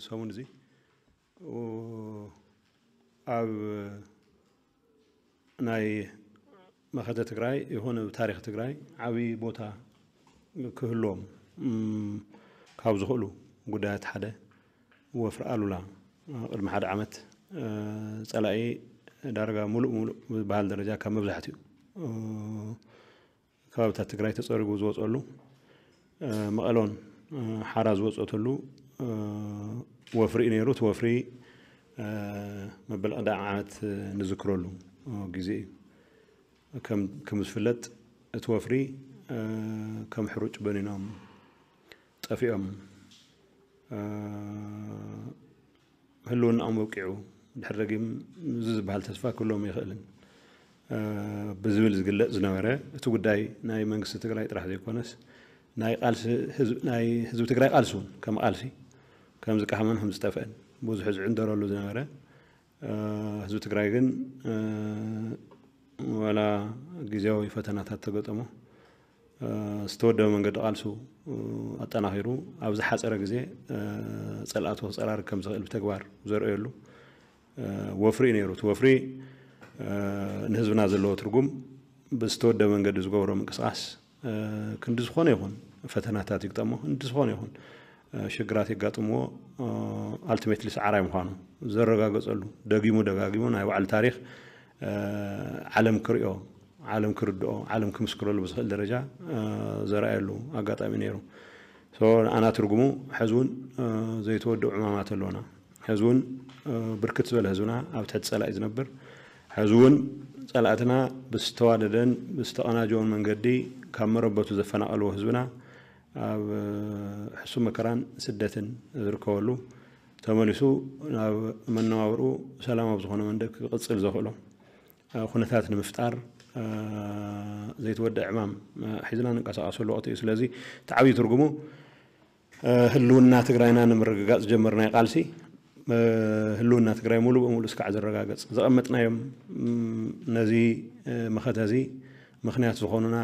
ሰሙን እዚ ኣብ ናይ መኸተ ትግራይ ይኹን ኣብ ታሪኽ ትግራይ ዓብዪ ቦታ ክህልዎም ካብ ዝኽእሉ ጉዳያት ሓደ ወፍሪ ኣሉላ ቅድሚ ሓደ ዓመት ጸላኢ ዳርጋ ሙሉእ ሙሉእ ዝበሃል ደረጃ ካብ መብዛሕትኡ ከባብታት ትግራይ ተፀሪጉ ዝወፀሉ መቐሎን ሓራ ዝወፀተሉ ወፍሪ እዩ ነይሩ። እቲ ወፍሪ መበል ቀዳማይ ዓመት ንዝክረሉ ግዜ እዩ። ከም ዝፍለጥ እቲ ወፍሪ ከም ሕሩጭ በኒኖም ጠፊኦም ህልውናኦም ወቂዑ ድሕር ደጊም እዚ ዝበሃል ተስፋ ክህልዎም ይኽእልን ብዝብል ዝግለፅ ዝነበረ እቲ ጉዳይ ናይ መንግስቲ ትግራይ ጥራሕ ዘይኮነስ ናይ ቃልሲ ናይ ህዝቢ ትግራይ ቃልሲ እውን ከም ቃልሲ ከም ዝቃሃመን ከም ዝጠፍአን ብዙሕ ዝዕንደረሉ ዝነበረ ህዝቢ ትግራይ ግን ዋላ ግዜያዊ ፈተናታት ተገጠሞ ዝተወደበ መንገዲ ቃልሱ ኣጠናኺሩ ኣብ ዝሓፀረ ግዜ ፀላእቱ ክፀራርግ ከም ዝኽእል ብተግባር ዘርእየሉ ወፍሪ እዩ ነይሩ። እቲ ወፍሪ ንህዝብና ዘለዎ ትርጉም ብዝተወደበ መንገዲ ዝገብሮ ምንቅስቃስ ክንዲ ዝኾነ ይኹን ፈተናታት ይግጠሞ፣ ክንዲ ዝኾነ ይኹን ሽግራት የጋጥምዎ፣ ኣልቲሜትሊ ሰዓራይ ምዃኑ ዘረጋገፀሉ ደጊሙ ደጋጊሙ ናይ ባዕሉ ታሪኽ ዓለም ክሪኦ ዓለም ክርድኦ ዓለም ክምስክረሉ ብዝኽእል ደረጃ ዘርኣየሉ ኣጋጣሚ ነይሩ። ኣና ትርጉሙ ሕዚ እውን ዘይተወደኡ ዕማማት ኣለና። ሕዚ እውን ብርክት ዝበለ ህዝብና ኣብ ትሕቲ ፀላኢ ዝነብር ሕዚ እውን ፀላእትና ብዝተዋደደን ብዝተቐናጀወን መንገዲ ካብ መረበቱ ዘፈናቐልዎ ህዝብና ኣብ ሕሱም መከራን ስደትን ዝርከበሉ ተመሊሱ ናብ መነባብርኡ ሰላማዊ ዝኾነ መንገዲ ክቕፅል ዘኽእሎ ኩነታት ንምፍጣር ዘይተወደአ ዕማም ሒዝና ንንቀሳቐሰሉ ወቕቲ እዩ። ስለዚ እቲ ዓብዪ ትርጉሙ ህልውና ትግራይና ንምርግጋፅ ዝጀመርናዮ ቃልሲ ህልውና ትግራይ ሙሉእ ብሙሉእ እስካዕ ዝረጋገፅ ዘቐመጥናዮም ነዚ መኸተ እዚ ምኽንያት ዝኾኑና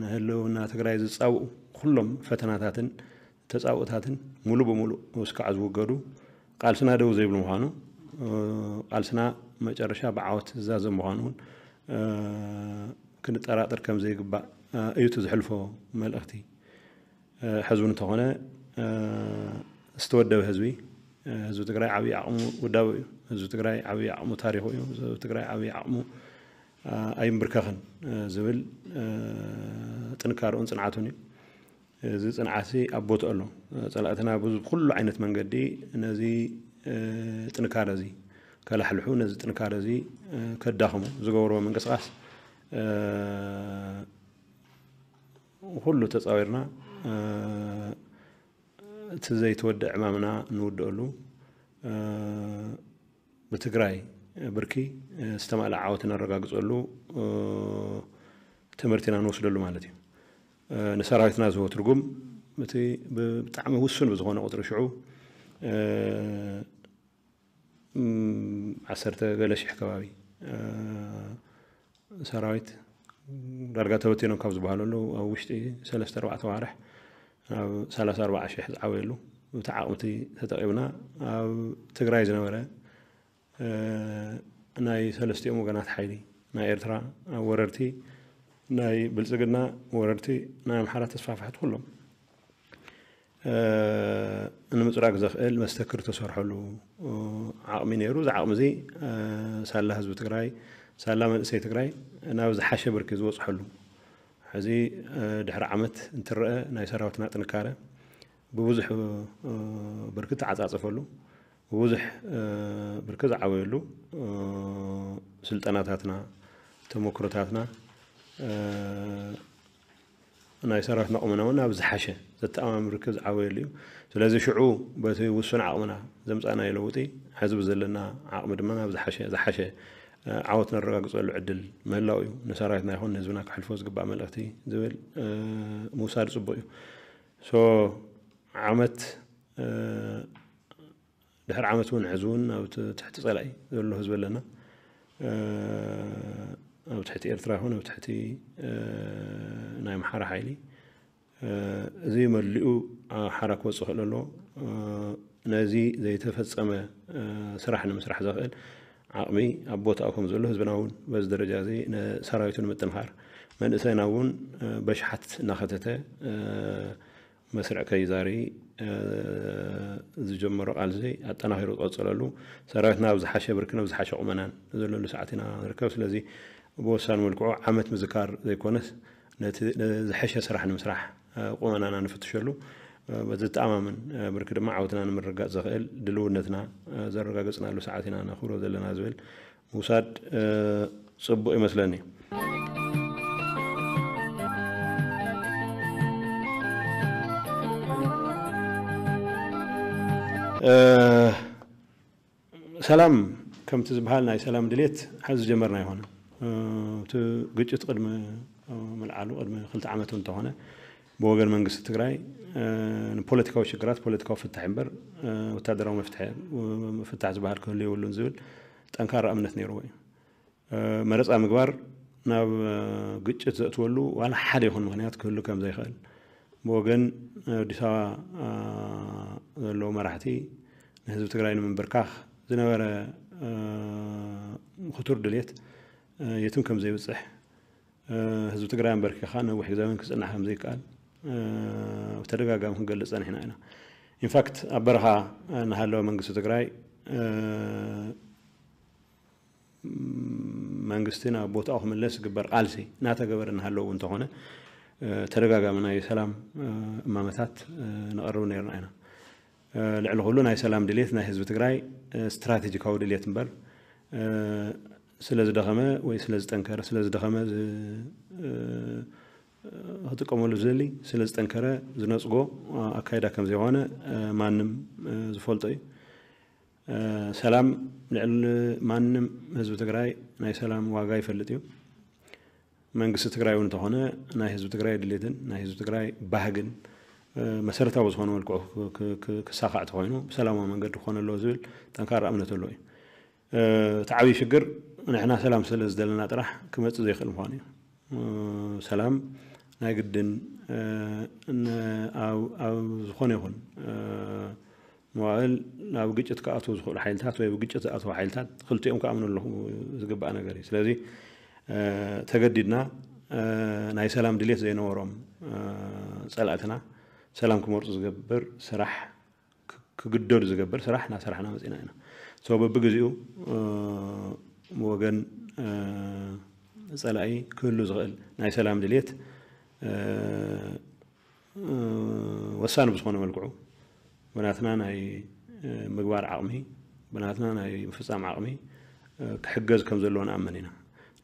ንህልውና ትግራይ ዝፃውኡ ኩሎም ፈተናታትን ተፃውእታትን ሙሉእ ብሙሉእ እስካዕ ዝውገዱ ቃልስና ደው ዘይብል ምዃኑ ቃልስና መጨረሻ ብዓወት ዝዛዘም ምዃኑ እውን ክንጠራጠር ከም ዘይግባእ እዩ እቲ ዝሕልፎ መልእኽቲ። ሕዚ እውን እንተኾነ ዝተወደበ ህዝቢ ህዝቢ ትግራይ ዓብዪ ዓቕሙ ውዳበ እዩ። ህዝቢ ትግራይ ዓብዪ ዓቕሙ ታሪኹ እዩ። ህዝቢ ትግራይ ዓብዪ ዓቕሙ ኣይምብርከኽን ዝብል ጥንካረኡን ፅንዓቱን እዩ። እዚ ፅንዓት ኣብ ቦትኡ ኣሎ። ፀላእትና ብኩሉ ዓይነት መንገዲ ነዚ ጥንካረ እዚ ከላሕልሑ ነዚ ጥንካረ እዚ ከዳኽሙ ዝገብርዎ ምንቅስቃስ ኩሉ ተፃዊርና እቲ ዘይተወደአ ዕማምና ንውድአሉ ብትግራይ ብርኪ ዝተማልአ ዓወት ነረጋግፀሉ ትምህርቲ ኢና ንወስደሉ ማለት እዩ። ንሰራዊትና ዝህቦ ትርጉም እቲ ብጣዕሚ ውሱን ብዝኾነ ቁፅሪ ሽዑ ዓሰርተ ገለ ሽሕ ከባቢ ሰራዊት ዳርጋ ተበቲኖም ካብ ዝበሃሉ ኣለዉ ኣብ ውሽጢ ሰለስተ ኣርባዕተ ኣዋርሕ ናብ ሰላሳ ኣርባዓ ሽሕ ዝዓበየሉ እቲ ዓቕምቲ ተጠቒምና ኣብ ትግራይ ዝነበረ ናይ ሰለስቲኦም ወገናት ሓይሊ ናይ ኤርትራ ወረርቲ ናይ ብልፅግና ወረርቲ ናይ ኣምሓራ ተስፋፍሕቲ ኩሎም ንምፅራግ ዘኽእል መስተክር ተሰርሐሉ ዓቕሚ ነይሩ። እዚ ዓቕሚ እዚ ሳላ ህዝቢ ትግራይ ሳላ መንእሰይ ትግራይ ናብ ዝሓሸ ብርኪ ዝበፅሐሉ ሕዚ ድሕሪ ዓመት እንትረአ ናይ ሰራዊትና ጥንካረ ብብዙሕ ብርኪ ተዓፃፀፈሉ ብብዙሕ ብርኪ ዝዓበየሉ ስልጠናታትና ተመክሮታትና ናይ ሰራዊትና ቁመና እውን ናብ ዝሓሸ ዘተኣማምን ርክብ ዝዓበየሉ እዩ። ስለዚ ሽዑ በቲ ውሱን ዓቕምና ዘምፃእናዮ ለውጢ ሕዚ ብዘለና ዓቕሚ ድማ ናብ ዝሓሸ ዝሓሸ ዓወት ነረጋግፀሉ ዕድል ምህላው እዩ ንሰራዊትና ይኹን ንህዝብና ክሕልፎ ዝግባእ መልእኽቲ ዝብል ምውሳድ ፅቡቅ እዩ። ሶ ዓመት ድሕሪ ዓመት እውን ሕዚ እውን ኣብ ትሕቲ ፀላኢ ዘሎ ህዝቢ ኣለና። ኣብ ትሕቲ ኤርትራ ይኹን ኣብ ትሕቲ ናይ ኣምሓራ ሓይሊ እዚ መሊኡ ሓራ ክወፅእ ክእል ኣሎ። ነዚ ዘይተፈፀመ ስራሕ ንምስራሕ ዘኽእል ዓቕሚ ኣብ ቦታኡ ከም ዘሎ ህዝብና እውን በዚ ደረጃ እዚ ንሰራዊቱ ንምጥንኻር መንእሰይና እውን በሽሓት እናኸተተ መስርዕ ከይዛሪ ዝጀመሮ ቃልሲ ኣጠናኺሩ ዝቐፀለሉ ሰራዊትና ኣብ ዝሓሸ ብርክን ኣብ ዝሓሸ ቁመናን ዘለሉ ሰዓት ኢና ንርከብ። ስለዚ ብወሳኒ መልክዑ ዓመት ምዝካር ዘይኮነስ ነቲ ዝሐሸ ስራሕ ንምስራሕ ቁመናና ንፍትሸሉ በዚ ተኣማምን ብርኪ ድማ ዓወትና ንምርጋፅ ዘኽእል ድልውነትና ዘረጋገፅናሉ ሰዓት ኢና ነኽብሮ ዘለና ዝብል ምውሳድ ፅቡቅ ይመስለኒ። ሰላም ከምቲ ዝበሃል ናይ ሰላም ድሌት ሓዚ ዝጀመርና ኣይኮነን። እቲ ግጭት ቅድሚ ምልዓሉ ቅድሚ ክልተ ዓመት እንተኾነ ብወገን መንግስቲ ትግራይ ንፖለቲካዊ ሽግራት ፖለቲካዊ ፍታሕ እምበር ወታደራዊ መፍትሒ ፍታሕ ዝበሃል ክህሉ የብሉን ዝብል ጠንካራ እምነት ነይርዎ እዩ። መረፃ ምግባር ናብ ግጭት ዘእትወሉ ዋላ ሓደ ይኹን ምኽንያት ክህሉ ከም ዘይኽእል ብወገን ኣዲስ ኣበባ ዘለዉ መራሕቲ ንህዝቢ ትግራይ ንምንብርካኽ ዝነበረ ክቱር ድልየት የትም ከም ዘይብፅሕ ህዝቢ ትግራይ ኣንበርኪኻ ነዊሕ ግዜ እውን ክፅናሕ ከም ዘይከኣል ብተደጋጋሚ ክንገልፅ ፀኒሕና ኢና። ኢንፋክት ኣብ በረኻ እናሃለወ መንግስቲ ትግራይ መንግስቲ ናብ ቦታኡ ክምለስ ዝግበር ቃልሲ እናተገበረ እናሃለዉ እንተኾነ ተደጋጋሚ ናይ ሰላም እማመታት ነቐርብ ነርና ኢና። ልዕሊ ኩሉ ናይ ሰላም ድልየት ናይ ህዝቢ ትግራይ ስትራቴጂካዊ ድልየት እምበር ስለ ዝደኸመ ወይ ስለ ዝጠንከረ ስለ ዝደኸመ ክጥቀመሉ ዝደሊ ስለ ዝጠንከረ ዝነፅጎ ኣካይዳ ከም ዘይኮነ ማንም ዝፈልጦ እዩ። ሰላም ልዕሊ ማንም ህዝቢ ትግራይ ናይ ሰላም ዋጋ ይፈልጥ እዩ። መንግስቲ ትግራይ እውን እንተኾነ ናይ ህዝቢ ትግራይ ድሌትን ናይ ህዝቢ ትግራይ ባህግን መሰረታዊ ዝኾነ መልክዑ ክሳኻዕ ተኮይኑ ብሰላማዊ መንገዲ ክኾነ ኣለዎ ዝብል ጠንካራ እምነት ኣሎ እዩ። እቲ ዓብዪ ሽግር ንሕና ሰላም ስለ ዝደለና ጥራሕ ክመፅእ ዘይኽእል ምዃኑ እዩ። ሰላም ናይ ግድን ኣብ ዝኾነ ይኹን መዋእል ናብ ግጭት ክኣትዉ ዝኽእሉ ሓይልታት ወይ ኣብ ግጭት ዝኣትዉ ሓይልታት ክልቲኦም ክኣምኑ ኣለኹ ዝግባእ ነገር እዩ። ስለዚ ተገዲድና ናይ ሰላም ድሌት ዘይነበሮም ፀላእትና ሰላም ክመርፁ ዝገብር ስራሕ ክግደዱ ዝገብር ስራሕ እናሰራሕና መፂና ኢና። ሶ በብግዜኡ ወገን ፀላኢ ክህሉ ዝኽእል ናይ ሰላም ድሌት ወሳኒ ብዝኾነ መልክዑ ብናትና ናይ ምግባር ዓቕሚ ብናትና ናይ ምፍፃም ዓቕሚ ክሕገዝ ከም ዘለዎ ንኣምን ኢና።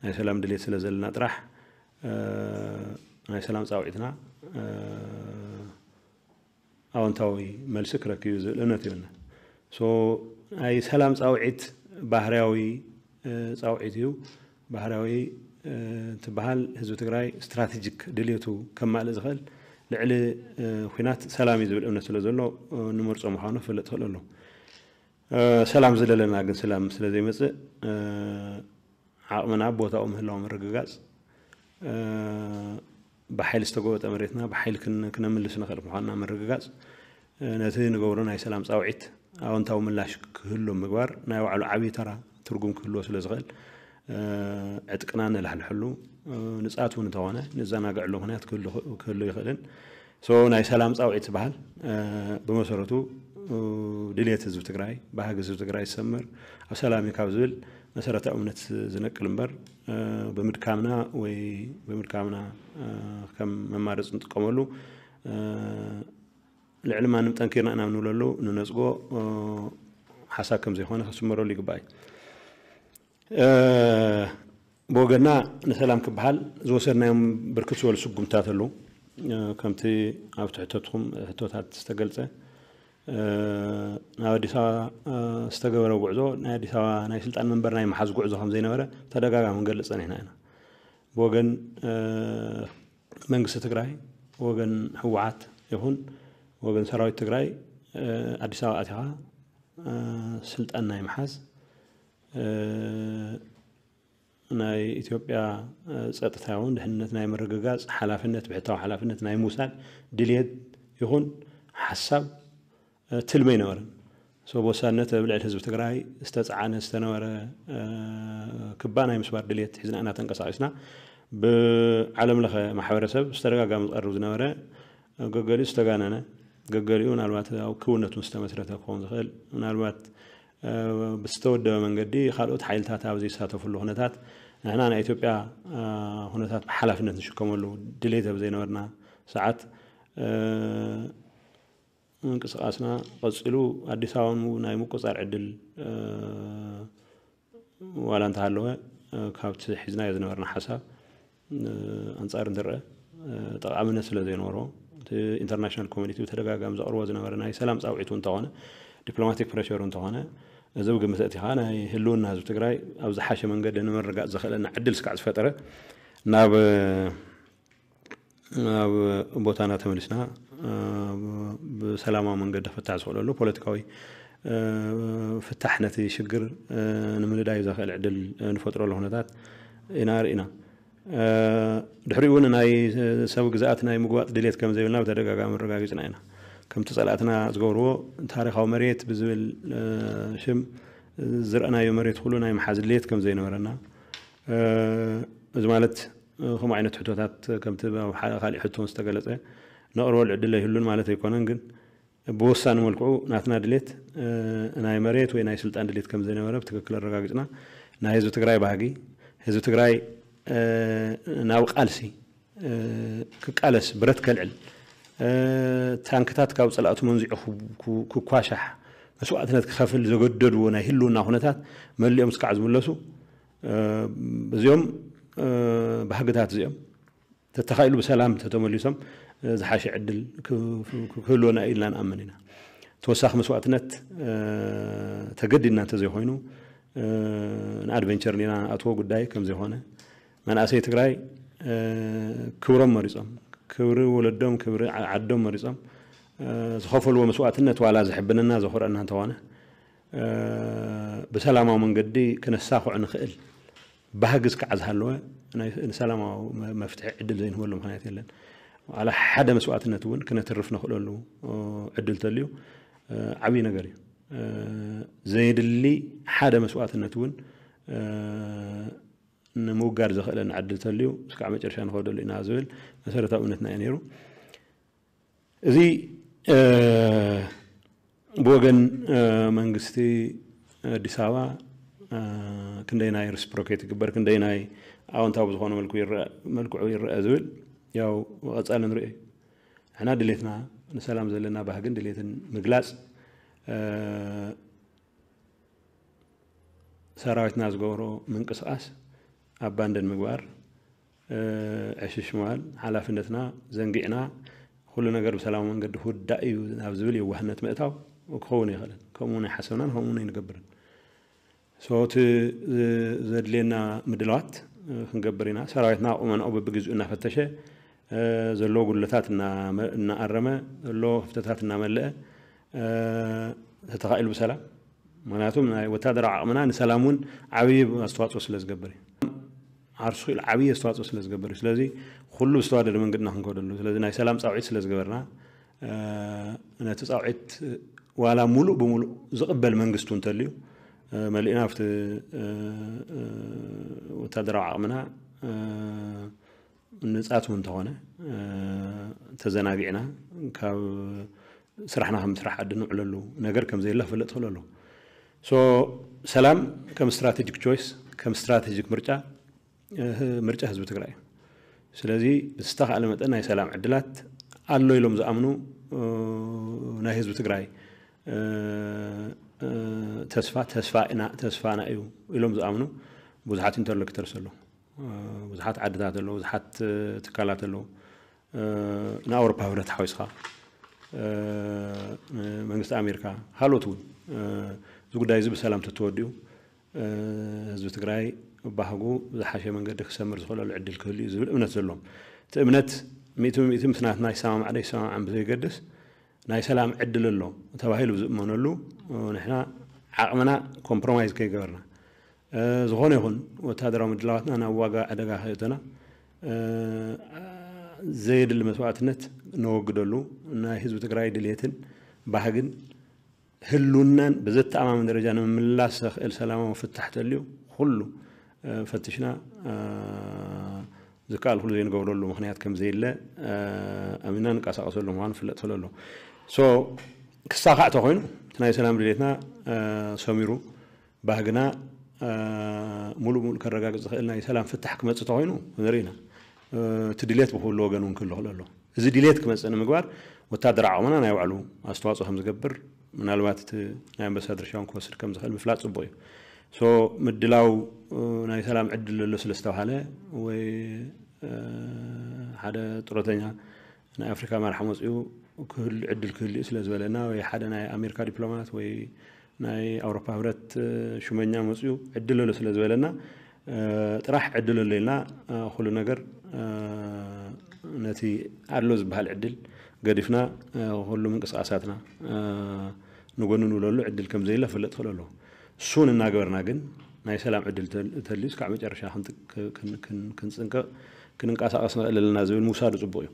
ናይ ሰላም ድሌት ስለ ዘለና ጥራሕ ናይ ሰላም ፃውዒትና ኣወንታዊ መልሲ ክረክብ እዩ ዝብል እምነት ይብልና። ሶ ናይ ሰላም ፃውዒት ባህርያዊ ፃውዒት እዩ። ባህርያዊ እንትበሃል ህዝቢ ትግራይ ስትራቴጂክ ድልየቱ ከማልእ ዝኽእል ልዕሊ ኩናት ሰላም እዩ ዝብል እምነት ስለ ዘሎ ንመርፆ ምዃኑ ክፍለጥ ይኽእል ኣሎ። ሰላም ዝደለና ግን ሰላም ስለ ዘይመፅእ ዓቕምና ኣብ ቦታኡ ምህላው ምርግጋፅ ብሓይሊ ዝተጎበጠ መሬትና ብሓይሊ ክነምልስ ንኽእል ምዃንና ምርግጋፅ ነቲ ንገብሮ ናይ ሰላም ፃውዒት ኣወንታዊ ምላሽ ክህሉ ምግባር ናይ ባዕሉ ዓብዪ ተራ ትርጉም ክህልዎ ስለ ዝኽእል ዕጥቅና ነላሕልሐሉ ንፃት እውን እንተኾነ ንዘናግዐሉ ምኽንያት ክህሉ ይኽእልን ሶ ናይ ሰላም ፃውዒት ዝበሃል ብመሰረቱ ድልየት ህዝቢ ትግራይ ባህጊ ህዝቢ ትግራይ ዝሰምር ኣብ ሰላም እዩ ካብ ዝብል መሰረታዊ እምነት ዝነቅል እምበር ብምድካምና ወይ ብምድካምና ከም መማረፂ ንጥቀመሉ ልዕሊ ማንም ጠንኪርና ኢና ንብለሉ ንነፅጎ ሓሳብ ከም ዘይኮነ ክስመረሉ ይግባእ እዩ። ብወገና ንሰላም ክበሃል ዝወሰድናዮም ብርክት ዝበሉ ስጉምታት ኣለዉ። ከምቲ ኣብቲ ሕቶትኩም ሕቶታት ዝተገልፀ ናብ ኣዲስ ኣበባ ዝተገበረ ጉዕዞ ናይ ኣዲስ ኣበባ ናይ ስልጣን መንበር ናይ ምሓዝ ጉዕዞ ከም ዘይነበረ ተደጋጋሚ ክንገልፅ ፀኒሕና ኢና። ብወገን መንግስቲ ትግራይ ብወገን ህወሓት ይኹን ብወገን ሰራዊት ትግራይ ኣዲስ ኣበባ ኣቲኻ ስልጣን ናይ ምሓዝ ናይ ኢትዮጵያ ጸጥታ ይኹን ድሕንነት ናይ ምርግጋጽ ሓላፍነት፣ ብሕታዊ ሓላፍነት ናይ ምውሳድ ድልየት ይኹን ሓሳብ ትልሚ ኣይነበረን። ሰው ወሳነት ኣብ ልዕሊ ህዝቢ ትግራይ ዝተፃዓነ ዝተነበረ ክባ ናይ ምስባር ድልየት ሒዝና ኢና ተንቀሳቂስና። ብዓለም ለኸ ማሕበረሰብ ዝተደጋጋሚ ዝቐርብ ዝነበረ፣ ገገሊኡ ዝተጋነነ፣ ገገሊኡ ምናልባት ኣብ ክውነቱን ዝተመስረተ ክኸውን ዝኽእል፣ ምናልባት ብዝተወደበ መንገዲ ካልኦት ሓይልታት ኣብ ዘይሳተፍሉ ኩነታት፣ ንሕና ናይ ኢትዮጵያ ኩነታት ብሓላፍነት ንሽከመሉ ድሌት ኣብ ዘይነበርና ሰዓት፣ ምንቅስቃስና ቀፂሉ። ኣዲስ ኣበባ ናይ ምቁፃር ዕድል ዋላ እንተሃለወ፣ ካብቲ ሒዝናዮ ዝነበርና ሓሳብ ኣንፃር እንትረአ፣ ጠቓምነት ስለ ዘይነበሮ፣ እቲ ኢንተርናሽናል ኮሚኒቲ ብተደጋጋሚ ዘቕርቦ ዝነበረ ናይ ሰላም ፃውዒቱ እንተኾነ፣ ዲፕሎማቲክ ፕሬሸሩ እንተኾነ፣ እዚ ብግምት እቲ ከዓ ናይ ህልውና ህዝቢ ትግራይ ኣብ ዝሓሸ መንገዲ ንምርጋፅ ዘኽእለና ዕድል ስካዕ ዝፈጠረ፣ ናብ ናብ ቦታና ተመሊስና ብሰላማዊ መንገዲ ክፍታሕ ዝኽእለሉ ፖለቲካዊ ፍታሕ ነቲ ሽግር ንምንዳይ ዘኽእል ዕድል ንፈጥረሉ ኩነታት ኢና ርኢና። ድሕሪኡ እውን ናይ ሰብ ግዝኣት ናይ ምግባጥ ድሌት ከም ዘይብልና ብተደጋጋሚ ኣረጋጊፅና ኢና። ከምቲ ፀላእትና ዝገብርዎ ታሪኻዊ መሬት ብዝብል ሽም ዝረኣናዮ መሬት ኩሉ ናይ ምሓዝ ድሌት ከም ዘይነበረና፣ እዚ ማለት ከምኡ ዓይነት ሕቶታት ከምቲ ኣብ ሓደ ካሊእ ሕቶ ዝተገለፀ ነቕርበሉ ዕድል ኣይህሉን ማለት ኣይኮነን፣ ግን ብወሳኒ መልክዑ ናትና ድሌት ናይ መሬት ወይ ናይ ስልጣን ድሌት ከም ዘይነበረ ብትክክል ኣረጋጊፅና። ናይ ህዝቢ ትግራይ ባህጊ፣ ህዝቢ ትግራይ ናብ ቃልሲ ክቃለስ፣ ብረት ከልዕል፣ ታንክታት ካብ ፀላእቱ መንዚዑ ክኳሻሕ፣ መስዋእትነት ክኸፍል ዘገደድዎ ናይ ህልውና ኩነታት መሊኦም ስካዕ ዝምለሱ፣ እዚኦም ባህግታት እዚኦም ተተኻኢሉ ብሰላም ተተመሊሶም ዝሓሸ ዕድል ክህልወና ኢልና ንኣምን ኢና። ተወሳኺ መስዋእትነት ተገዲድና እንተዘይኮይኑ፣ ንኣድቨንቸር ዲና ንኣትዎ ጉዳይ ከም ዘይኮነ፣ መናእሰይ ትግራይ ክብሮም መሪፆም፣ ክብሪ ወለዶም፣ ክብሪ ዓዶም መሪፆም ዝኸፈልዎ መስዋእትነት ዋላ ዘሕብነና ዘኹርዐና እንተኾነ፣ ብሰላማዊ መንገዲ ክነሳኽዖ ንኽእል ባህጊ እስካዕ ዝሃለወ ንሰላማዊ መፍትሒ ዕድል ዘይንህበሉ ምኽንያት የለን። ዋላ ሓደ መስዋእትነት እውን ክነትርፍ ንኽእለሉ ዕድል ተልዩ ዓብዪ ነገር እዩ። ዘየድሊ ሓደ መስዋእትነት እውን ንምውጋድ ዘኽእለና ዕድል ተልዩ እስካዕ መጨረሻ ንኸደሉ ኢና ዝብል መሰረታዊ እምነትና እዩ ነይሩ። እዚ ብወገን መንግስቲ ኣዲስ ኣበባ ክንደይ ናይ ሪስፕሮኬት ይግበር፣ ክንደይ ናይ ኣወንታዊ ብዝኾነ መልክዑ ይረአ ዝብል ያው ቀፃሊ ንሪኦ እዩ። ንሕና ድሌትና ንሰላም ዘለና ባህግን ድሌትን ምግላፅ፣ ሰራዊትና ዝገብሮ ምንቅስቃስ ኣባንደን ምግባር፣ ዕሽሽ ምባል፣ ሓላፍነትና ዘንጊዕና ኩሉ ነገር ብሰላማዊ መንገዲ ክውዳእ እዩ ናብ ዝብል የዋህነት ምእታው ክኸውን ኣይኽእልን። ከምኡ እውን ኣይሓሰብናን ከምኡ እውን ኣይንገብርን። So እቲ ዘድልየና ምድላዋት ክንገብር ኢና። ሰራዊትና ቁመናኡ በብግዚኡ እናፈተሸ፣ ዘለዎ ጉድለታት እናኣረመ፣ ዘለዎ ክፍተታት እናመለአ ተተኻኢሉ ብሰላም፣ ምክንያቱም ናይ ወታደራዊ ዓቕምና ንሰላም እውን ዓብዪ ኣስተዋፅኦ ስለ ዝገብር እዩ። ዓርሱ ክኢሉ ዓብዪ ኣስተዋፅኦ ስለ ዝገብር እዩ። ስለዚ ኩሉ ብዝተዋደደ መንገድና ክንከደሉ። ስለዚ ናይ ሰላም ፃውዒት ስለ ዝገበርና፣ ነቲ ፃውዒት ዋላ ሙሉእ ብሙሉእ ዝቕበል መንግስቲ እውን እንተልዩ፣ መሊእና ኣብቲ ወታደራዊ ዓቕምና ንፃት እውን እንተኾነ ተዘናጊዕና ካብ ስራሕና ከም ስራሕ ዓዲ ንውዕለሉ ነገር ከም ዘየለ ክፍለጥ ይኽእል ኣለዎ። So ሰላም ከም ስትራቴጂክ ቾይስ፣ ከም ስትራቴጂክ ምርጫ፣ ምርጫ ህዝቢ ትግራይ እዩ። ስለዚ ብዝተኻእለ መጠን ናይ ሰላም ዕድላት ኣሎ ኢሎም ዝኣምኑ ናይ ህዝቢ ትግራይ ተስፋ ተስፋ ኢና ተስፋና እዩ ኢሎም ዝኣምኑ ብዙሓት ኢንተርሎኪተርስ ኣለዉ። ብዙሓት ዓድታት ኣለዉ፣ ብዙሓት ትካላት ኣለዉ። ንኣውሮፓ ህብረት ሓዊስካ፣ መንግስቲ ኣሜሪካ፣ ካልኦት እውን እዚ ጉዳይ እዚ ብሰላም ተተወዲኡ ህዝቢ ትግራይ ባህጉ ብዝሓሸ መንገዲ ክሰምር ዝኽእለሉ ዕድል ክህሉ እዩ ዝብል እምነት ዘለዎም። እቲ እምነት ሚእቲ ብሚእቲ ምስ ናትና ይሰማማዕ ዶ ይሰማማዕን ብዘይገድስ ናይ ሰላም ዕድል ኣሎ ተባሂሉ ብዝእመነሉ ንሕና ዓቕምና ኮምፕሮማይዝ ከይገበርና ዝኾነ ይኹን ወታደራዊ ምድላዋትና ናብ ዋጋ ዕደጋ ከየእተና፣ ዘየድሊ መስዋእትነት ነወግደሉ፣ ናይ ህዝቢ ትግራይ ድልየትን ባህግን ህልውናን ብዘተኣማምን ደረጃ ንምምላስ ዘኽእል ሰላማዊ ፍታሕ ተልዩ ኩሉ ፈትሽና ዝከኣል ኩሉ ዘይንገብረሉ ምኽንያት ከም ዘየለ ኣሚና ንቀሳቀሰሉ ምዃኑ ፍለጥ ስለ ኣሎ። ክሳኻዕ ተኮይኑ እቲ ናይ ሰላም ድሌትና ሰሚሩ ባህግና ሙሉእ ሙሉእ ከረጋግፅ ዝኽእል ናይ ሰላም ፍታሕ ክመፅእ ተኮይኑ ንርኢ ኢና። እቲ ድሌት ብኩሉ ወገን እውን ክህሉ ክእል ኣሎ። እዚ ድሌት ክመፅእ ንምግባር ወታደራዊ ዓቕምና ናይ ባዕሉ ኣስተዋፅኦ ከም ዝገብር ምናልባት እቲ ናይ ኣንበሳ ድርሻውን ክወስድ ከም ዝኽእል ምፍላጥ ፅቡቅ እዩ። ምድላው ናይ ሰላም ዕድል ዘሎ ስለ ዝተባሃለ ወይ ሓደ ጥሮተኛ ናይ ኣፍሪካ መራሕ መፅኡ ክህሉ ዕድል ክህልዩ ስለ ዝበለና ወይ ሓደ ናይ ኣሜሪካ ዲፕሎማት ወይ ናይ ኣውሮፓ ህብረት ሹመኛ መፅኡ ዕድል ኣሎ ስለ ዝበለና ጥራሕ ዕድል ኣሎ ኢልና ኩሉ ነገር ነቲ ኣሎ ዝበሃል ዕድል ገዲፍና ኩሉ ምንቅስቃሳትና ንጎኒ ንብለሉ ዕድል ከም ዘየለ ክፍለጥ ክእል ኣለዎ። እሱን እናገበርና ግን ናይ ሰላም ዕድል ተልዩ እስካዕ መጨረሻ ክንፅንቀቕ ክንንቀሳቀስ ንኽእል ኣለና ዝብል ምውሳዱ ፅቡቅ እዩ።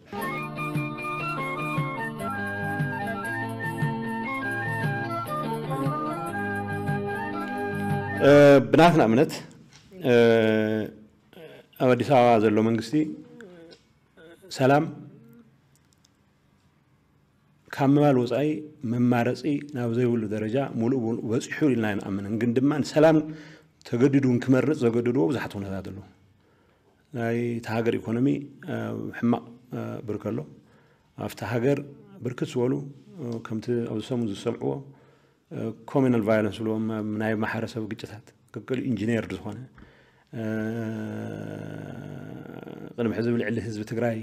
ብናትና እምነት ኣብ ኣዲስ ኣበባ ዘሎ መንግስቲ ሰላም ካብ ምባል ወፃኢ መማረፂ ናብ ዘይብሉ ደረጃ ሙሉእ ብሙሉእ በፂሑ ኢልና ኣይንኣምንን። ግን ድማ ንሰላም ተገዲዱ ክመርፅ ዘገደድዎ ብዙሓት ኩነታት ኣለዉ። ናይ እቲ ሃገር ኢኮኖሚ ኣብ ሕማቕ ብርክ ኣሎ። ኣብቲ ሃገር ብርክት ዝበሉ ከምቲ ኣብዚ ሰሙን ዝሰምዕዎ ኮሚናል ቫዮለንስ ዝብልዎም ናይ ማሕበረሰብ ግጭታት ክክል ኢንጂነርድ ዝኾነ ቅድሚ ሕዚ ብልዕሊ ህዝቢ ትግራይ